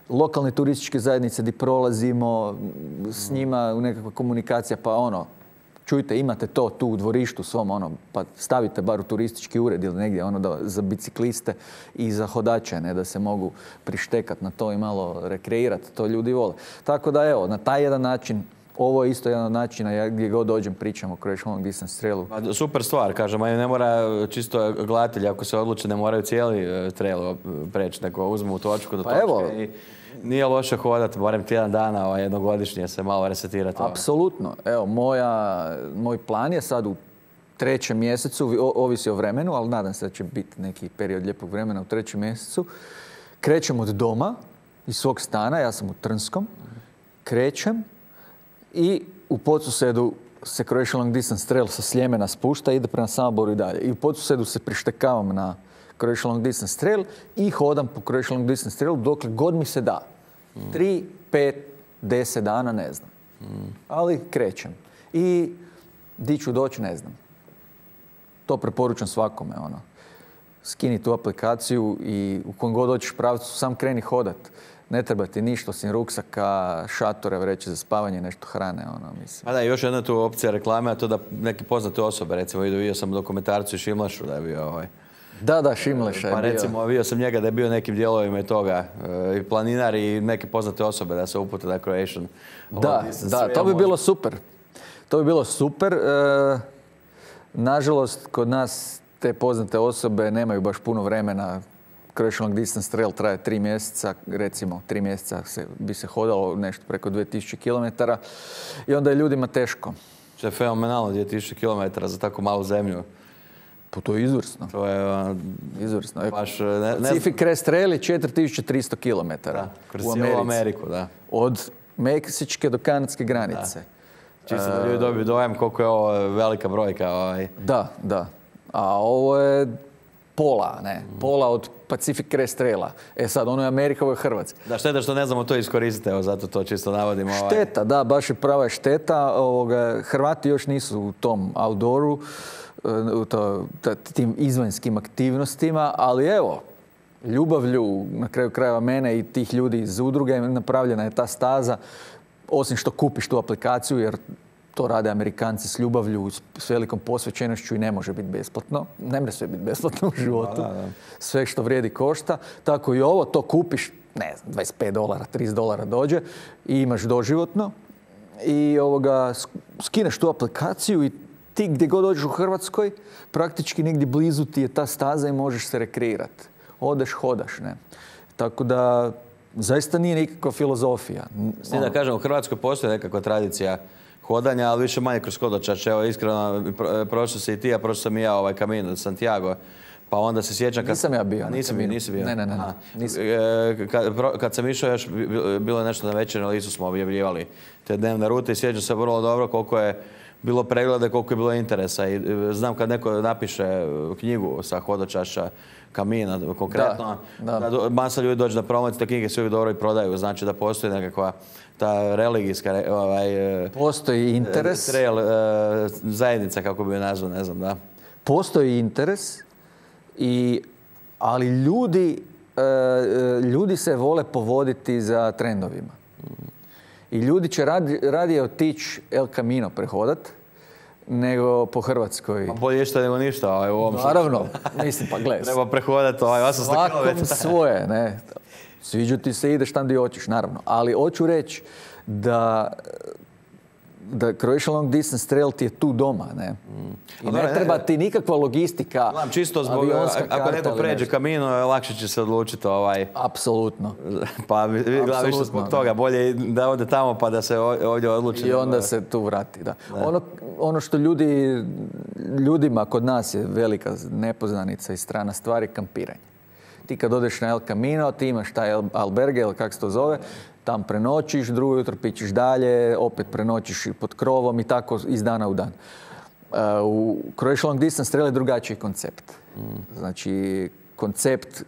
lokalne turističke zajednice gdje prolazimo, s njima u nekakva komunikacija, pa čujte, imate to tu u dvorištu svom, pa stavite bar u turistički ured ili negdje za bicikliste i za hodače, ne, da se mogu prištekati na to i malo rekreirati, to ljudi vole. Tako da evo, na taj jedan način, ovo je isto jedan od načina, gdje god dođem pričam o Croatian Long Distance Trailu. Super stvar, kažem, ne mora čisto gledatelji, ako se odluče, ne moraju cijeli trail preći, nego uzmu točku do točke i nije loše hodati, barem tjedan dana, jednogodišnje se malo resetirati. Apsolutno. Evo, moj plan je sad u 3. mjesecu, ovisi o vremenu, ali nadam se da će biti neki period lijepog vremena u 3. mjesecu. Krećem od doma, iz svog stana, ja sam u Trnskom, krećem i u Podsusedu se Croatian Long Distance Trail sa Sljemena spušta i ide prema Samoboru i dalje. I u Podsusedu se prištekavam na Croatian Long Distance Trail i hodam po Croatian Long Distance Trailu dokle god mi se da. 3, 5, 10 dana, ne znam. Ali krećem. I di ću doći, ne znam. To preporučam svakome. Skini tu aplikaciju i u kojem god dođeš pravcu, sam kreni hodat. Ne treba ti ništa osim ruksaka, šatore, vreće za spavanje, nešto hrane, mislim. A da, još jedna tu opcija reklame, a to da neke poznate osobe, recimo vidio sam dokumentarcu Šimlašu da je bio Da, Šimleša je bio. Pa recimo, vidio sam njega da je bio nekim dijelovima i toga, i planinar i neke poznate osobe da se upute na Croatian. Da, to bi bilo super. To bi bilo super. Nažalost, kod nas te poznate osobe nemaju baš puno vremena. Croatian Long Distance Trail traje 3 mjeseca, recimo 3 mjeseca bi se hodalo nešto preko 2000 km i onda je ljudima teško. To je fenomenalno, 2000 km za tako malu zemlju. Pa to je izvrsno. To je izvrsno. Pacific Crest Trail je 4300 km kroz cijelu Ameriku, da. Od meksičke do kanadske granice. Čisto da ljudi dobiju dojam koliko je ovo velika brojka. Da. A ovo je pola, ne? Pola od Pacific Crest Traila. Sad, ono je Amerika, ovo je Hrvatska. Da, šteta što ne znamo to iskoristiti, evo, zato to čisto navodimo. Šteta, da, baš je prava šteta. Hrvati još nisu u tom outdooru, tim izvanjskim aktivnostima, ali evo, ljubavlju, na kraju krajeva mene i tih ljudi iz udruge, napravljena je ta staza, osim što kupiš tu aplikaciju, jer to rade Amerikanci s ljubavlju, s velikom posvećenošću i ne može biti besplatno. Ne može sve biti besplatno u životu. Da. Sve što vrijedi košta. Tako i ovo, to kupiš, ne znam, $25, $30 dođe i imaš doživotno. i skineš tu aplikaciju i ti gdje god dođeš u Hrvatskoj, praktički negdje blizu ti je ta staza i možeš se rekreirati. Odeš, hodaš, ne. Tako da, zaista nije nikakva filozofija. S tim da kažem, u Hrvatskoj postoji nekakva tradicija hodanja, ali više manje kroz hodočašće. Evo, iskreno, prošao si i ti, a prošao sam i ja Camino de Santiago. Pa onda se sjećam... Nisam ja bio. Nisi bio? Ne. Kad sam išao još, bilo je nešto na večer, na listu smo objavljivali te dnevne rute i sjećam se vrlo dobro koliko je bilo pregleda, koliko je bilo interesa. I znam kad neko napiše knjigu sa hodočašća Camina konkretno, da masa ljudi dođe na promociju, te knjige se uvijek dobro i prodaju. Znači da postoji nekakva ta religijska... postoji interes. Trail zajednica, kako bi je nazvao, ne znam, da. Postoji interes, ali ljudi se vole povoditi za trendovima. I ljudi će radije otići El Camino prehodat nego po Hrvatskoj. Pa bolje što nego ništa u ovom slučaju. Naravno, mislim, pa gledaj. Treba prehodati 800 km. Svakom svoje, ne. Sviđu ti se, ideš tam gdje hoćeš, naravno. Ali hoću reći da Croatia Long Distance Trail ti je tu doma, ne? I ne treba ti nikakva logistika, čisto zbog, ako neko pređe Camino, lakše će se odlučiti Apsolutno. Pa gledam više zbog toga, bolje da ode tamo pa da se ovdje odluči. I onda se tu vrati, da. Ono što ljudima kod nas je velika nepoznanica i strana stvari, kampiranje. Ti kad odeš na El Camino, ti imaš taj alberge, ili kako se to zove, tam prenoćiš, drugo jutro pićeš dalje, opet prenoćiš pod krovom i tako iz dana u dan. U Croatia Long Distance Trail je drugačiji koncept. Znači, koncept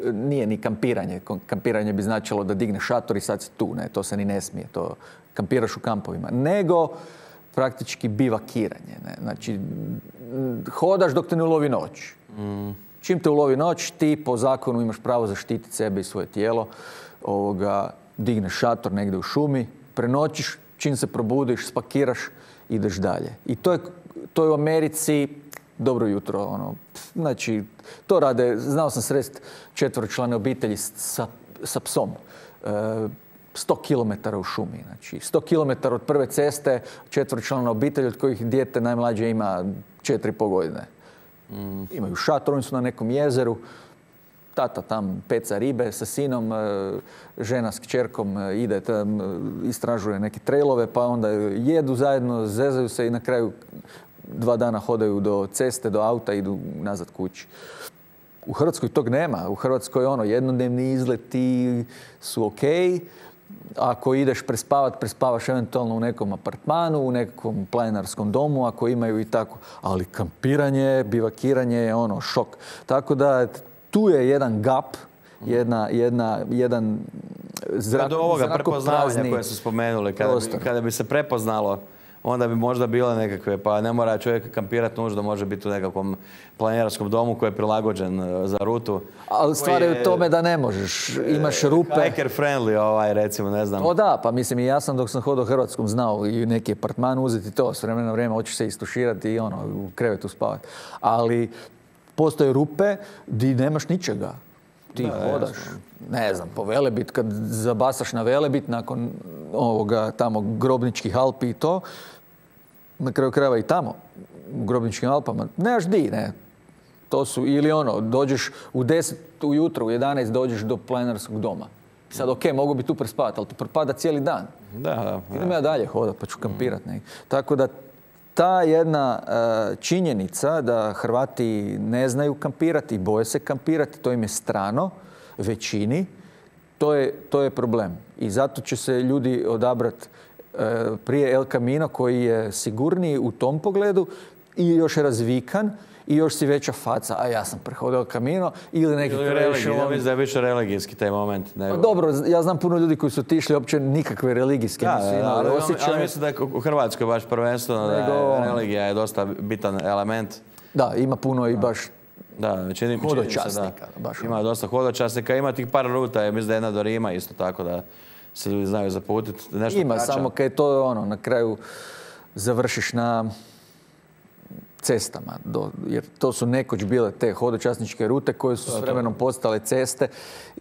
nije ni kampiranje. Kampiranje bi značilo da digneš šator i sad si tu, ne, to se ni ne smije, to kampiraš u kampovima. Nego praktički bivakiranje, ne. Znači, hodaš dok te ne ulovi noć. Čim te ulovi noć, ti po zakonu imaš pravo zaštititi sebe i svoje tijelo. Digneš šator negdje u šumi, prenoćiš, čim se probudiš, spakiraš, ideš dalje. I to je u Americi dobro jutro. Znači, to rade, znao sam srest 4-člane obitelji sa psom. 100 km u šumi. Znači, 100 km od prve ceste, 4-člana obitelj od kojih dijete najmlađe ima 4,5 godine. Imaju šator, oni su na nekom jezeru, tata tam peca ribe sa sinom, žena s kćerkom ide tam, istražuje neke trailove, pa onda jedu zajedno, zezaju se i na kraju 2 dana hodaju do ceste, do auta, idu nazad kući. U Hrvatskoj tog nema. U Hrvatskoj jednodnevni izleti su okej. Ako ideš prespavaš eventualno u nekom apartmanu, u nekom planinarskom domu, ako imaju i tako. Ali kampiranje, bivakiranje je šok. Tako da tu je jedan gap, jedan zrakoprazni do ovoga prepoznavanja koje su spomenuli. Kada bi se prepoznalo, onda bi možda bile nekakve, pa ne mora čovjek kampirati nužno, može biti u nekakvom planinarskom domu koji je prilagođen za rutu. Ali stvar je u tome da ne možeš, imaš rupe. Hiker friendly, recimo, ne znam. O da, pa mislim i ja sam dok sam hodao Hrvatskom znao i neki apartman uzeti to, s vremena na vrijeme hoćeš se istuširati i u krevetu spavati. Ali postoje rupe gdje nemaš ničega. Ti hodaš, ne znam, po Velebit, kad zabasaš na Velebit nakon tamo Grobničkih Alpi i to, na kraju krajeva i tamo, u Grobničkim Alpama, nemaš di, ne. To su, ili dođeš u 10 ujutro, u 11 dođeš do planinarskog doma. Sad, mogu bi tu prespavati, ali ti propada cijeli dan. Da. Idem ja dalje hodat, pa ću kampirat. Tako da, ta jedna činjenica da Hrvati ne znaju kampirati i boje se kampirati, to im je strano, većini, to je problem. I zato će se ljudi odabrati prije El Camino koji je sigurniji u tom pogledu i još razvikan i još si veća faca, a ja sam prehodio El Camino ili neki Croatia. Ja mislim da je više religijski taj moment. Dobro, ja znam puno ljudi koji su otišli uopće nikakve religijske nisu imali osjećaje. Ali mislim da je u Hrvatskoj baš prvenstveno da religija je dosta bitan element. Da, ima puno i baš hodočasnika. Ima dosta hodočasnika, ima tih par ruta, mislim da je jedna do Rima isto tako da se ljudi znaju zaputiti. Ima, samo kad je to na kraju završiš na cestama, jer to su nekoć bile te hodočasničke rute koje su s vremenom postale ceste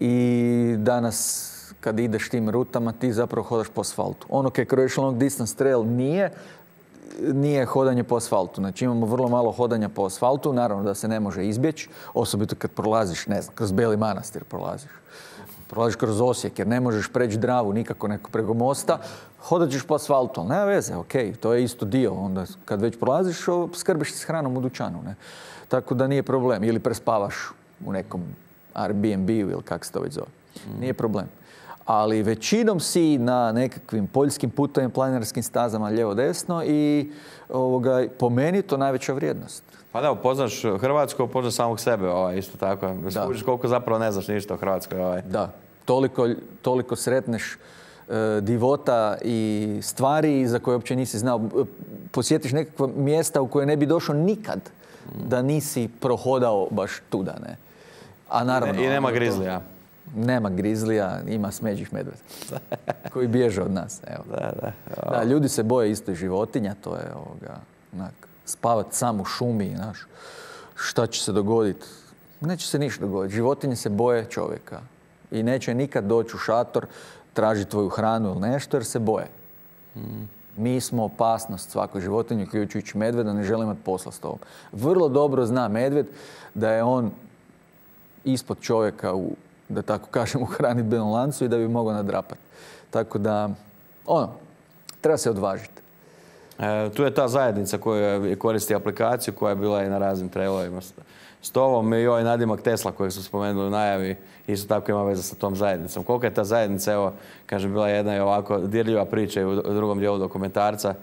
i danas kad ideš tim rutama, ti zapravo hodaš po asfaltu. Ono kaj Croatian Long Distance Trail nije hodanje po asfaltu. Znači imamo vrlo malo hodanja po asfaltu, naravno da se ne može izbjeći, osobito kad prolaziš, ne znam, kroz Beli Manastir prolaziš kroz Osijek jer ne možeš preći Dravu nikako preko mosta, hodat ćeš po asfaltu, ali nema veze, ok, to je isto dio. Onda kad već prolaziš, skrbiš se s hranom u dućanu, ne? Tako da nije problem. Ili prespavaš u nekom Airbnb-u ili kako se to već zove. Nije problem. Ali većinom si na nekakvim poljskim putovima, planinarskim stazama lijevo-desno i po meni to najveća vrijednost. Pa da, upoznaš Hrvatsku, upoznaš samog sebe, isto tako. Skužiš koliko zapravo ne znaš ništa o Hrvatskoj. Da, toliko sretneš divota i stvari za koje uopće nisi znao. Posjetiš nekakva mjesta u koje ne bi došao nikad da nisi prohodao baš tuda, ne. A naravno, i nema grizlija. Nema grizlija, ima smeđih medveda koji bježe od nas. Evo. Da, ljudi se boje isto životinja, to je spavat sam u šumi, znaš, šta će se dogoditi? Neće se ništa dogoditi. Životinje se boje čovjeka i neće nikad doći u šator, tražiti tvoju hranu ili nešto jer se boje. Mi smo opasnost svakoj životinji, uključujući medveda, ne želimo imati posla s tobom. Vrlo dobro zna medved da je on ispod čovjeka da tako kažem, u hranidbenom lancu i da bi mogao nadrapati. Tako da, treba se odvažiti. Tu je ta zajednica koja koristi aplikaciju koja je bila i na raznim trailovima s tobom i ovaj nadimak Tesla kojeg su spomenuli u najavi isto tako ima veze sa tom zajednicom. Koliko je ta zajednica, evo, kažem, bila jedna i ovako dirljiva priča i u drugom dijelu dokumentarca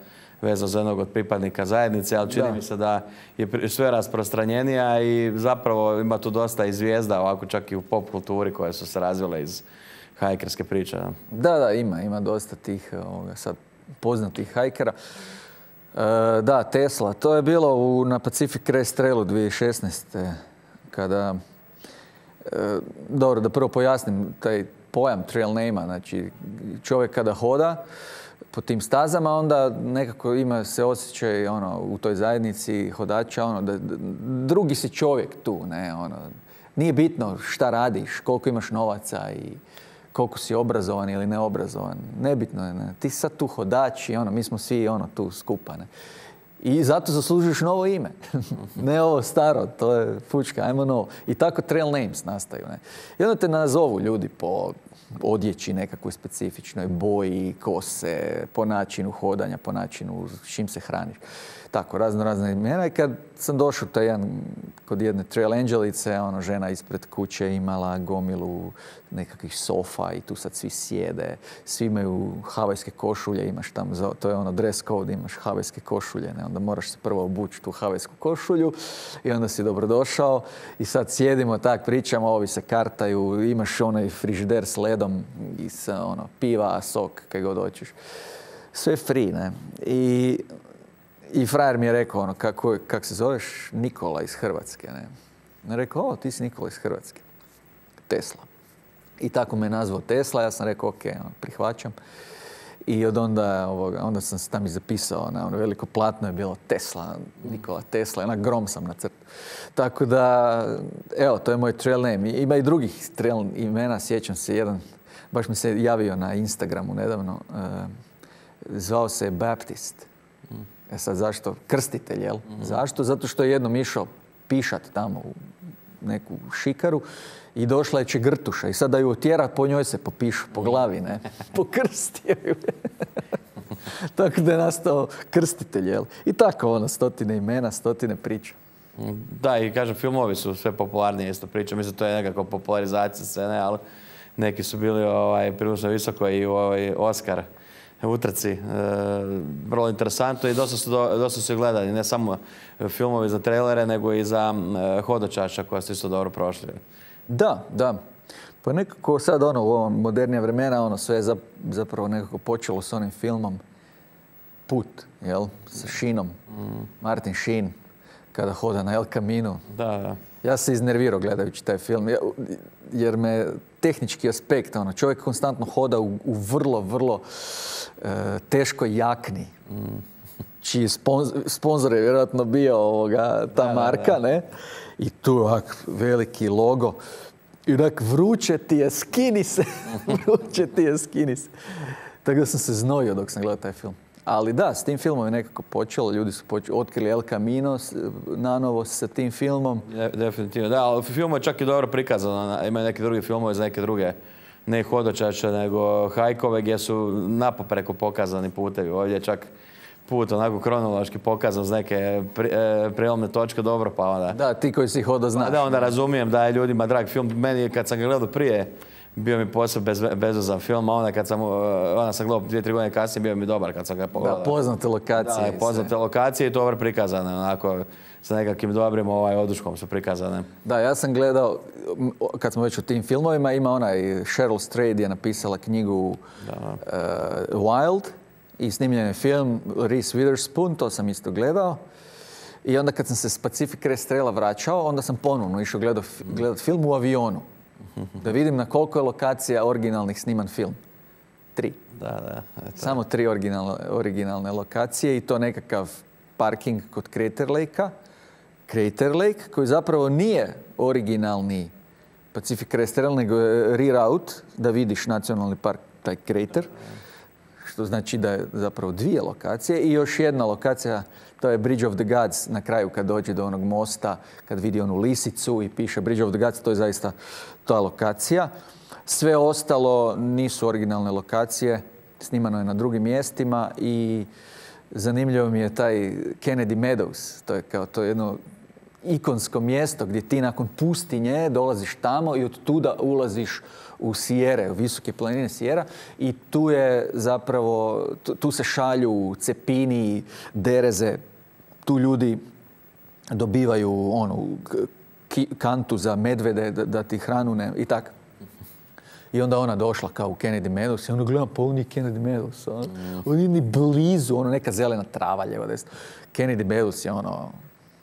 vezano za jednog od pripadnika zajednice, ali čini mi se da je sve rasprostranjenija i zapravo ima tu dosta i zvijezda, ovako čak i u pop kulturi koje su se razvile iz hajkerske priče. Da, ima dosta tih sad poznatih hajkera. Da, Tesla, to je bilo na Pacific Crest Trailu 2016. Kada, dobro, da prvo pojasnim taj pojam trail name-a, znači čovjek kada hoda po tim stazama, onda nekako ima se osjećaj u toj zajednici hodača, da drugi si čovjek tu, ne, nije bitno šta radiš, koliko imaš novaca i koliko si obrazovan ili neobrazovan. Nebitno je, ne. Ti sad tu hodač i mi smo svi tu skupa, ne. I zato zaslužuješ novo ime. Ne ovo staro, to je fučka, ajmo novo. I tako trail names nastaju, ne. I onda te nazovu ljudi po odjeći nekakvoj specifičnoj boji, kose, po načinu hodanja, po načinu s čim se hraniš. Tako, razne imena. I kad sam došao kod jedne trail angelice, žena ispred kuće imala gomilu nekakvih sofa i tu sad svi sjede. Svi imaju havajske košulje, imaš tamo, to je dress code, imaš havajske košulje, ne? Onda moraš se prvo obući tu havajsku košulju i onda si dobrodošao i sad sjedimo, tak pričamo, ovi se kartaju, imaš onaj frižider s ledom i sa piva, sok, kaj god hoćeš. Sve free, ne? I frajer mi je rekao, kak se zoveš? Nikola iz Hrvatske, ne? I rekao, ti si Nikola iz Hrvatske. Tesla. I tako me nazvao Tesla, ja sam rekao, ok, prihvaćam. I od onda sam se tam i zapisao, veliko platno je bilo Tesla, Nikola Tesla, grom sam nacrtao. Tako da, evo, to je moj trail name. Ima i drugih trail imena, sjećam se jedan, baš mi se javio na Instagramu nedavno, zvao se Baptist. Sad zašto? Krstitelj, jel? Zašto? Zato što je jednom išao pišat tamo u neku šikaru i došla je čegrtuša i sad da ju otjera, po njoj se popišu, po glavi, ne? Pokrstio ju. Tako da je nastao krstitelj, jel? I tako, stotine imena, stotine priča. Da, i kažem, filmovi su sve popularnije, isto priča. Mislim, to je nekako popularizacija scene, ali neki su bili prilično visoko i Oscar utrci. Vrlo interesantno i dosta su gledani. Ne samo filmovi za trailere, nego i za hodočaša koja su isto dobro prošli. Da. Pa nekako sad u ovo modernija vremena sve je zapravo nekako počelo s onim filmom Put, jel? Sa Sheenom. Martin Sheen kada hoda na El Camino. Da. Ja se iznervirao gledajući taj film, jer me tehnički aspekt, čovjek konstantno hoda u vrlo teškoj jakni, čiji sponzor je vjerojatno bio ta marka, ne? I tu veliki logo. I onak vruće ti je, skini se. Vruće ti je, skini se. Tako da sam se znojio dok sam gledao taj film. Ali da, s tim filmom je nekako počelo. Ljudi su otkrili El Camino nanovo sa tim filmom. Definitivno, da, ali film je čak i dobro prikazano. Ima neki drugi filmove za neke druge, ne hodočače, nego hajkove gdje su napopreko pokazani putevi. Ovdje je čak put onako kronološki pokazan uz neke prijelomne točke, dobro, pa onda... Da, ti koji si hodo znaš. Da, onda razumijem da je ljudima drag film. Meni, kad sam ga gledao prije, bio mi posebno bezvezan film, a onda sam gledao 2-3 godine kasnije, bio mi dobar kad sam ga pogledao. Da, poznate lokacije. Da, poznate lokacije i dobro prikazane, onako, sa nekakvim dobrim oduškom su prikazane. Da, ja sam gledao, kad smo već u tim filmovima, ima onaj Cheryl Strayed je napisala knjigu Wild i snimljen je film Reese Witherspoon, to sam isto gledao. I onda kad sam se s Pacific Crest Traila vraćao, onda sam ponovno išao gledat film u avionu. Da vidim na koliko je lokacija originalnih sniman film. 3. Da. Samo 3 originalne lokacije i to nekakav parking kod Crater Lake-a. Crater Lake, koji zapravo nije originalni Pacific Crest Trail, nego je reroute da vidiš nacionalni park, taj Crater. Što znači da je zapravo 2 lokacije i još jedna lokacija, to je Bridge of the Gods na kraju kad dođe do onog mosta, kad vidi onu lisicu i piše Bridge of the Gods, to je zaista ta lokacija. Sve ostalo nisu originalne lokacije, snimano je na drugim mjestima i zanimljivo mi je taj Kennedy Meadows, to je jedno ikonsko mjesto gdje ti nakon pustinje dolaziš tamo i od tuda ulaziš u Sijere, u visoke planine Sijera i tu je zapravo, tu se šalju cepini, dereze, tu ljudi dobivaju kantu za medvede da ti hranu ne, i tako. I onda ona došla kao u Kennedy Meadows i ono gledam, pa on je Kennedy Meadows. On je ni blizu, neka zelena trava ljeva desna. Kennedy Meadows je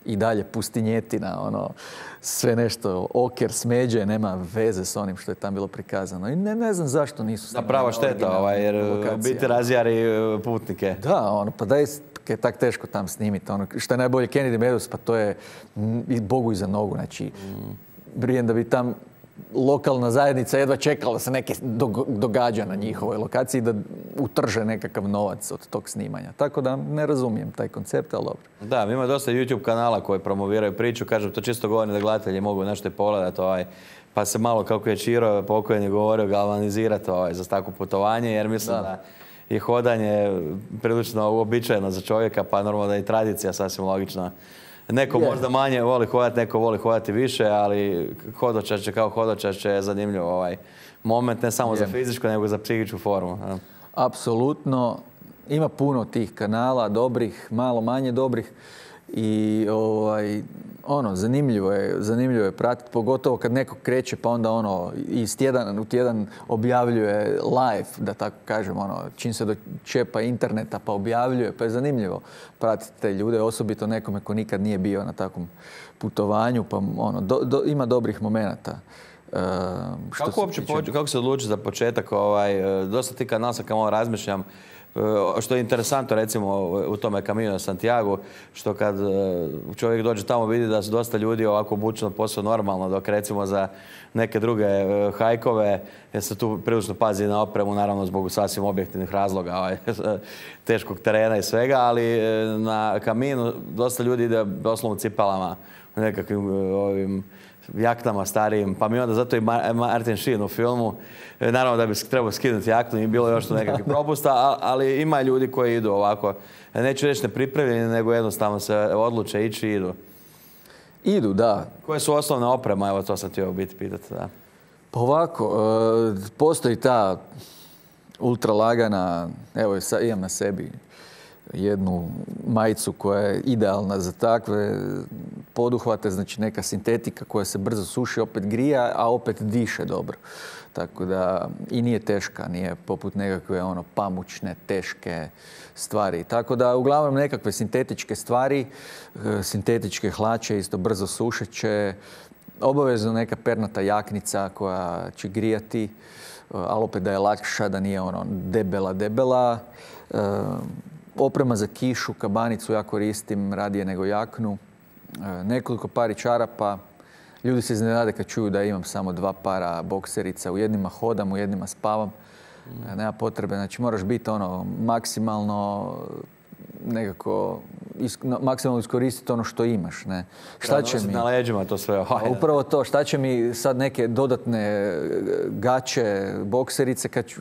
i dalje pustinjetina, sve nešto, oker, smeđe, nema veze s onim što je tam bilo prikazano. I ne znam zašto nisu snimali. Prava šteta, jer biti razjari putnike. Da, pa daj je tak teško tam snimiti. Što je najbolje Kennedy Meadows, pa to je Bogu iza nogu. Znači, brijem da bi tam lokalna zajednica jedva čekala da se neke događa na njihovoj lokaciji da utrže nekakav novac od tog snimanja. Tako da ne razumijem taj koncept, ali dobro. Da, ima dosta YouTube kanala koji promoviraju priču. Kažem, to čisto govorim da gledatelji mogu nešto i pogledati. Pa se malo, kako je Čiro pokojni govorio, galvanizirati za takvo putovanje, jer mislim da je hodanje prilično uobičajeno za čovjeka, pa normalno da je i tradicija sasvim logična. Neko možda manje voli hodati, neko voli hodati više, ali hodočašće kao hodočašće je zanimljiv moment, ne samo za fizičku, nego za psihičku formu. Apsolutno. Ima puno tih kanala, dobrih, malo manje dobrih i zanimljivo je pratiti, pogotovo kad neko kreće pa onda iz tjedan u tjedan objavljuje live, da tako kažem, čim se dočepa interneta pa objavljuje, pa je zanimljivo pratiti te ljude, osobito nekome ko nikad nije bio na takvom putovanju, pa ima dobrih momenata. Kako se odluči za početak? Dosta ti kanal sam kao razmišljam, što je interesantno recimo u tome Camino Santiago, što kad čovjek dođe tamo vidi da su dosta ljudi ovako obučeno posao normalno, dok recimo za neke druge hajkove jer se tu prilično pazi na opremu, naravno zbog sasvim objektivnih razloga, teškog terena i svega, ali na Caminu dosta ljudi ide doslovno cipelama, nekakvim jaknama starijim, pa mi onda zato i Martin Sheen u filmu, naravno da bi trebao skinuti jaknu i bilo još tu nekakvih propusta, ali ima ljudi koji idu ovako, neću reći nepripremljeni, nego jednostavno se odluče ići i idu. Idu, da. Koje su osnovne oprema, evo to sam htio biti pitati, da. Pa ovako, postoji ta ultralagana, evo imam na sebi jednu majicu koja je idealna za takve poduhvate, znači neka sintetika koja se brzo suši, opet grija, a opet diše dobro. Tako da i nije teška, nije poput nekakve pamučne, teške stvari. Tako da uglavnom nekakve sintetičke stvari, sintetičke hlače isto brzo sušeće, obavezno neka pernata jaknica koja će grijati, ali opet da je lakša, da nije debela. Oprema za kišu, kabanicu ja koristim radije nego jaknu. Nekoliko pari čarapa, Ljudi se iznenade kad čuju da imam samo 2 para bokserica. U jednima hodam, u jednima spavam. Nema potrebe. Znači, moraš biti maksimalno nekako maksimalno iskoristiti ono što imaš. Ne? Šta će mi na leđima to sve? Upravo to. Šta će mi sad neke dodatne gaće, bokserice, kad ću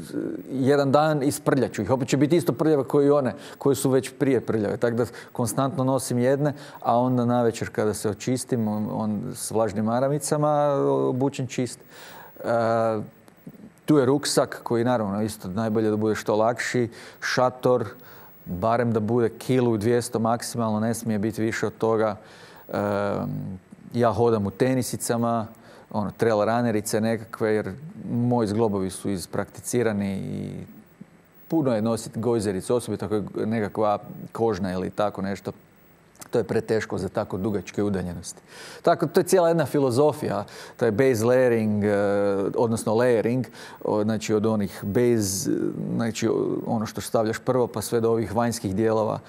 jedan dan isprljat ću ih. Opet će biti isto prljave kao i one koje su već prije prljave. Tako da konstantno nosim jedne, a onda navečer kada se očistim, s vlažnim maramicama obučen čist. Tu je ruksak koji naravno isto najbolje da bude što lakši, šator, barem da bude 1,2 kg maksimalno, ne smije biti više od toga. Ja hodam u tenisicama, trail runnerice nekakve, jer moji zglobovi su isprakticirani i puno je nositi gojzericu, osobito ako je nekakva kožna ili tako nešto. To je preteško za tako dugačke udaljenosti. Tako, to je cijela jedna filozofija, taj base layering, odnosno layering, znači od onih base, znači ono što stavljaš prvo pa sve do ovih vanjskih dijelova,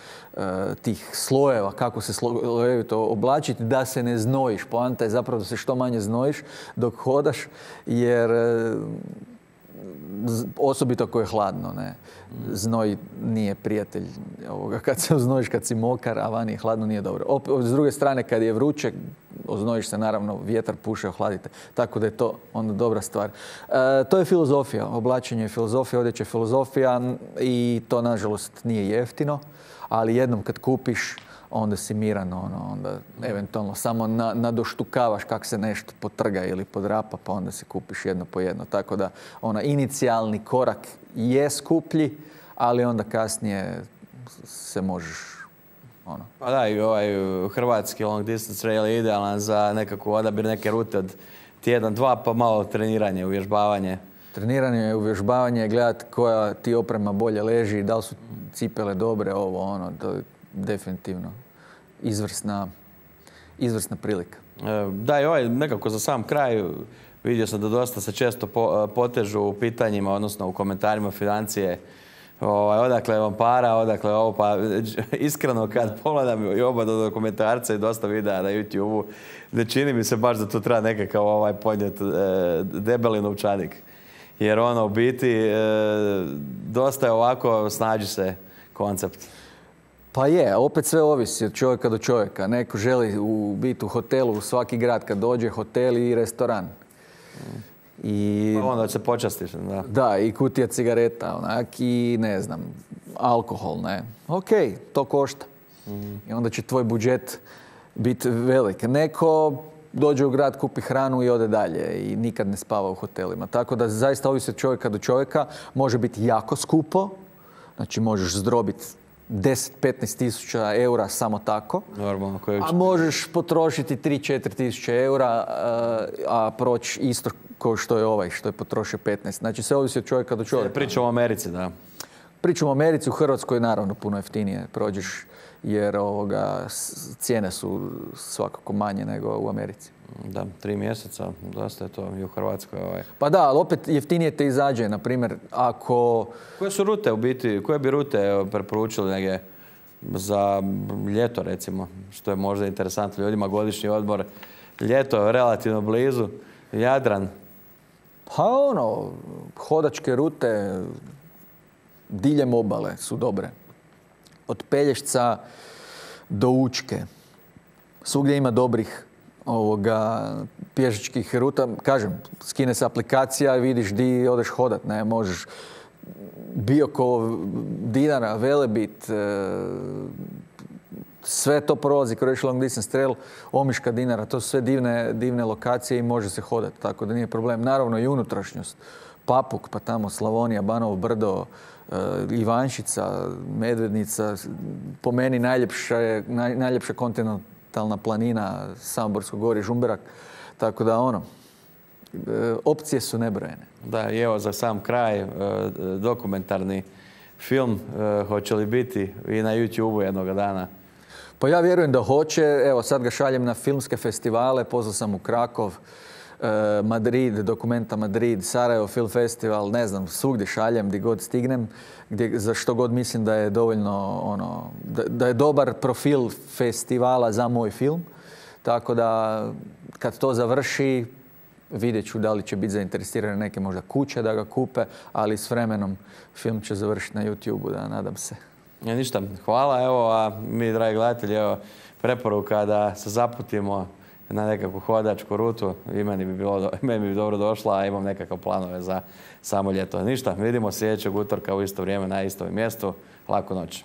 tih slojeva, kako se slojevito oblačiti da se ne znojiš. Poanta je zapravo da se što manje znojiš dok hodaš, jer osobito ako je hladno, ne. Znoj nije prijatelj ovoga. Kad se oznojiš, kad si mokar, a vani je hladno, nije dobro. S druge strane, kad je vruće, oznojiš se, naravno, vjetar puše, ohladite. Tako da je to onda dobra stvar. To je filozofija. Oblačenje je filozofija, odjeća je filozofija i to, nažalost, nije jeftino. Ali jednom kad kupiš, onda si miran, onda eventualno samo nadoštukavaš kako se nešto potrga ili podrapa, pa onda si kupiš jedno po jedno. Tako da inicijalni korak je skuplji, ali onda kasnije se možeš Pa da, i ovaj hrvatski long distance trail je idealan za nekakvu odabir neke rute od tjedan, dva, pa malo treniranje, uvježbavanje. Treniranje, uvježbavanje, gledati koja ti oprema bolje leži, da li su cipele dobre, to je definitivno izvrsna prilika. Da, i ovaj nekako za sam kraj vidio sam da dosta se često potežu u pitanjima, odnosno u komentarima financije. Odakle vam para, odakle ovo, pa iskreno kad pogledam i oba dokumentarca i dosta videa na YouTube-u, ne čini mi se baš da tu treba nekakav podnijeti debeli novčanik. Jer u biti dosta je ovako snađi se koncept. Pa je, opet sve ovisi od čovjeka do čovjeka. Neko želi biti u hotelu, u svaki grad kad dođe, hotel i restoran. Pa onda se počastiš, da. Da, i kutija cigareta, i ne znam, alkohol, ne. Ok, to košta. I onda će tvoj budžet biti velik. Neko dođe u grad, kupi hranu i ode dalje i nikad ne spava u hotelima. Tako da zaista ovisi od čovjeka do čovjeka. Može biti jako skupo, znači možeš zdrobiti 10-15 tisuća eura samo tako. Normalno. A možeš potrošiti 3-4 tisuće eura, a proći isto kao što je ovaj, što je potrošio 15. Znači sve ovisi od čovjeka do čovjeka. Pričamo o Americi, da. Pričamo o Americi, u Hrvatskoj naravno puno jeftinije prođeš, jer cijene su svakako manje nego u Americi. Da, 3 mjeseca, dosta je to i u Hrvatskoj. Pa da, ali opet jeftinije te izađe, na primjer, ako... Koje su rute u biti, koje bi rute preporučili negdje za ljeto, recimo, što je možda interesantno ljudima, godišnji odmor, ljeto je relativno blizu, Jadran? Pa hodačke rute diljem obale su dobre. Od Pelješca do Učke. Svugdje ima dobrih pješačkih ruta. Kažem, skine se aplikacija i vidiš di odeš hodat. Ne, možeš Biokovo, Dinara, Velebit, sve to prolazi Croatia Long Distance Trail, Omiška, Dinara, to su sve divne lokacije i može se hodati, tako da nije problem. Naravno i unutrašnjost, Papuk, pa tamo Slavonija, Banovo Brdo, Ivanšica, Medvednica, po meni najljepša kontinentalna planina, Samoborsko gorje, Žumberak, tako da opcije su nebrojene. Da, i evo za sam kraj, dokumentarni film, hoće li biti i na YouTube-u jednoga dana? Pa ja vjerujem da hoće. Evo sad ga šaljem na filmske festivale, pozvao sam u Krakov, Madrid, Dokumenta Madrid, Sarajevo Film Festival, ne znam, svugdje šaljem gdje god stignem, za što god mislim da je dovoljno, da je dobar profil festivala za moj film. Tako da kad to završi, vidjet ću da li će biti zainteresirane neke možda kuće da ga kupe, ali s vremenom film će završiti na YouTube-u, da nadam se. Ništa, hvala. Evo, a mi, dragi gledatelji, evo, preporuka da se zaputimo na nekakvu hodačku rutu. I meni bi dobro došla, a imam nekakve planove za samo ljeto. Ništa, vidimo sljedećeg utorka u isto vrijeme na istom mjestu. Laku noć.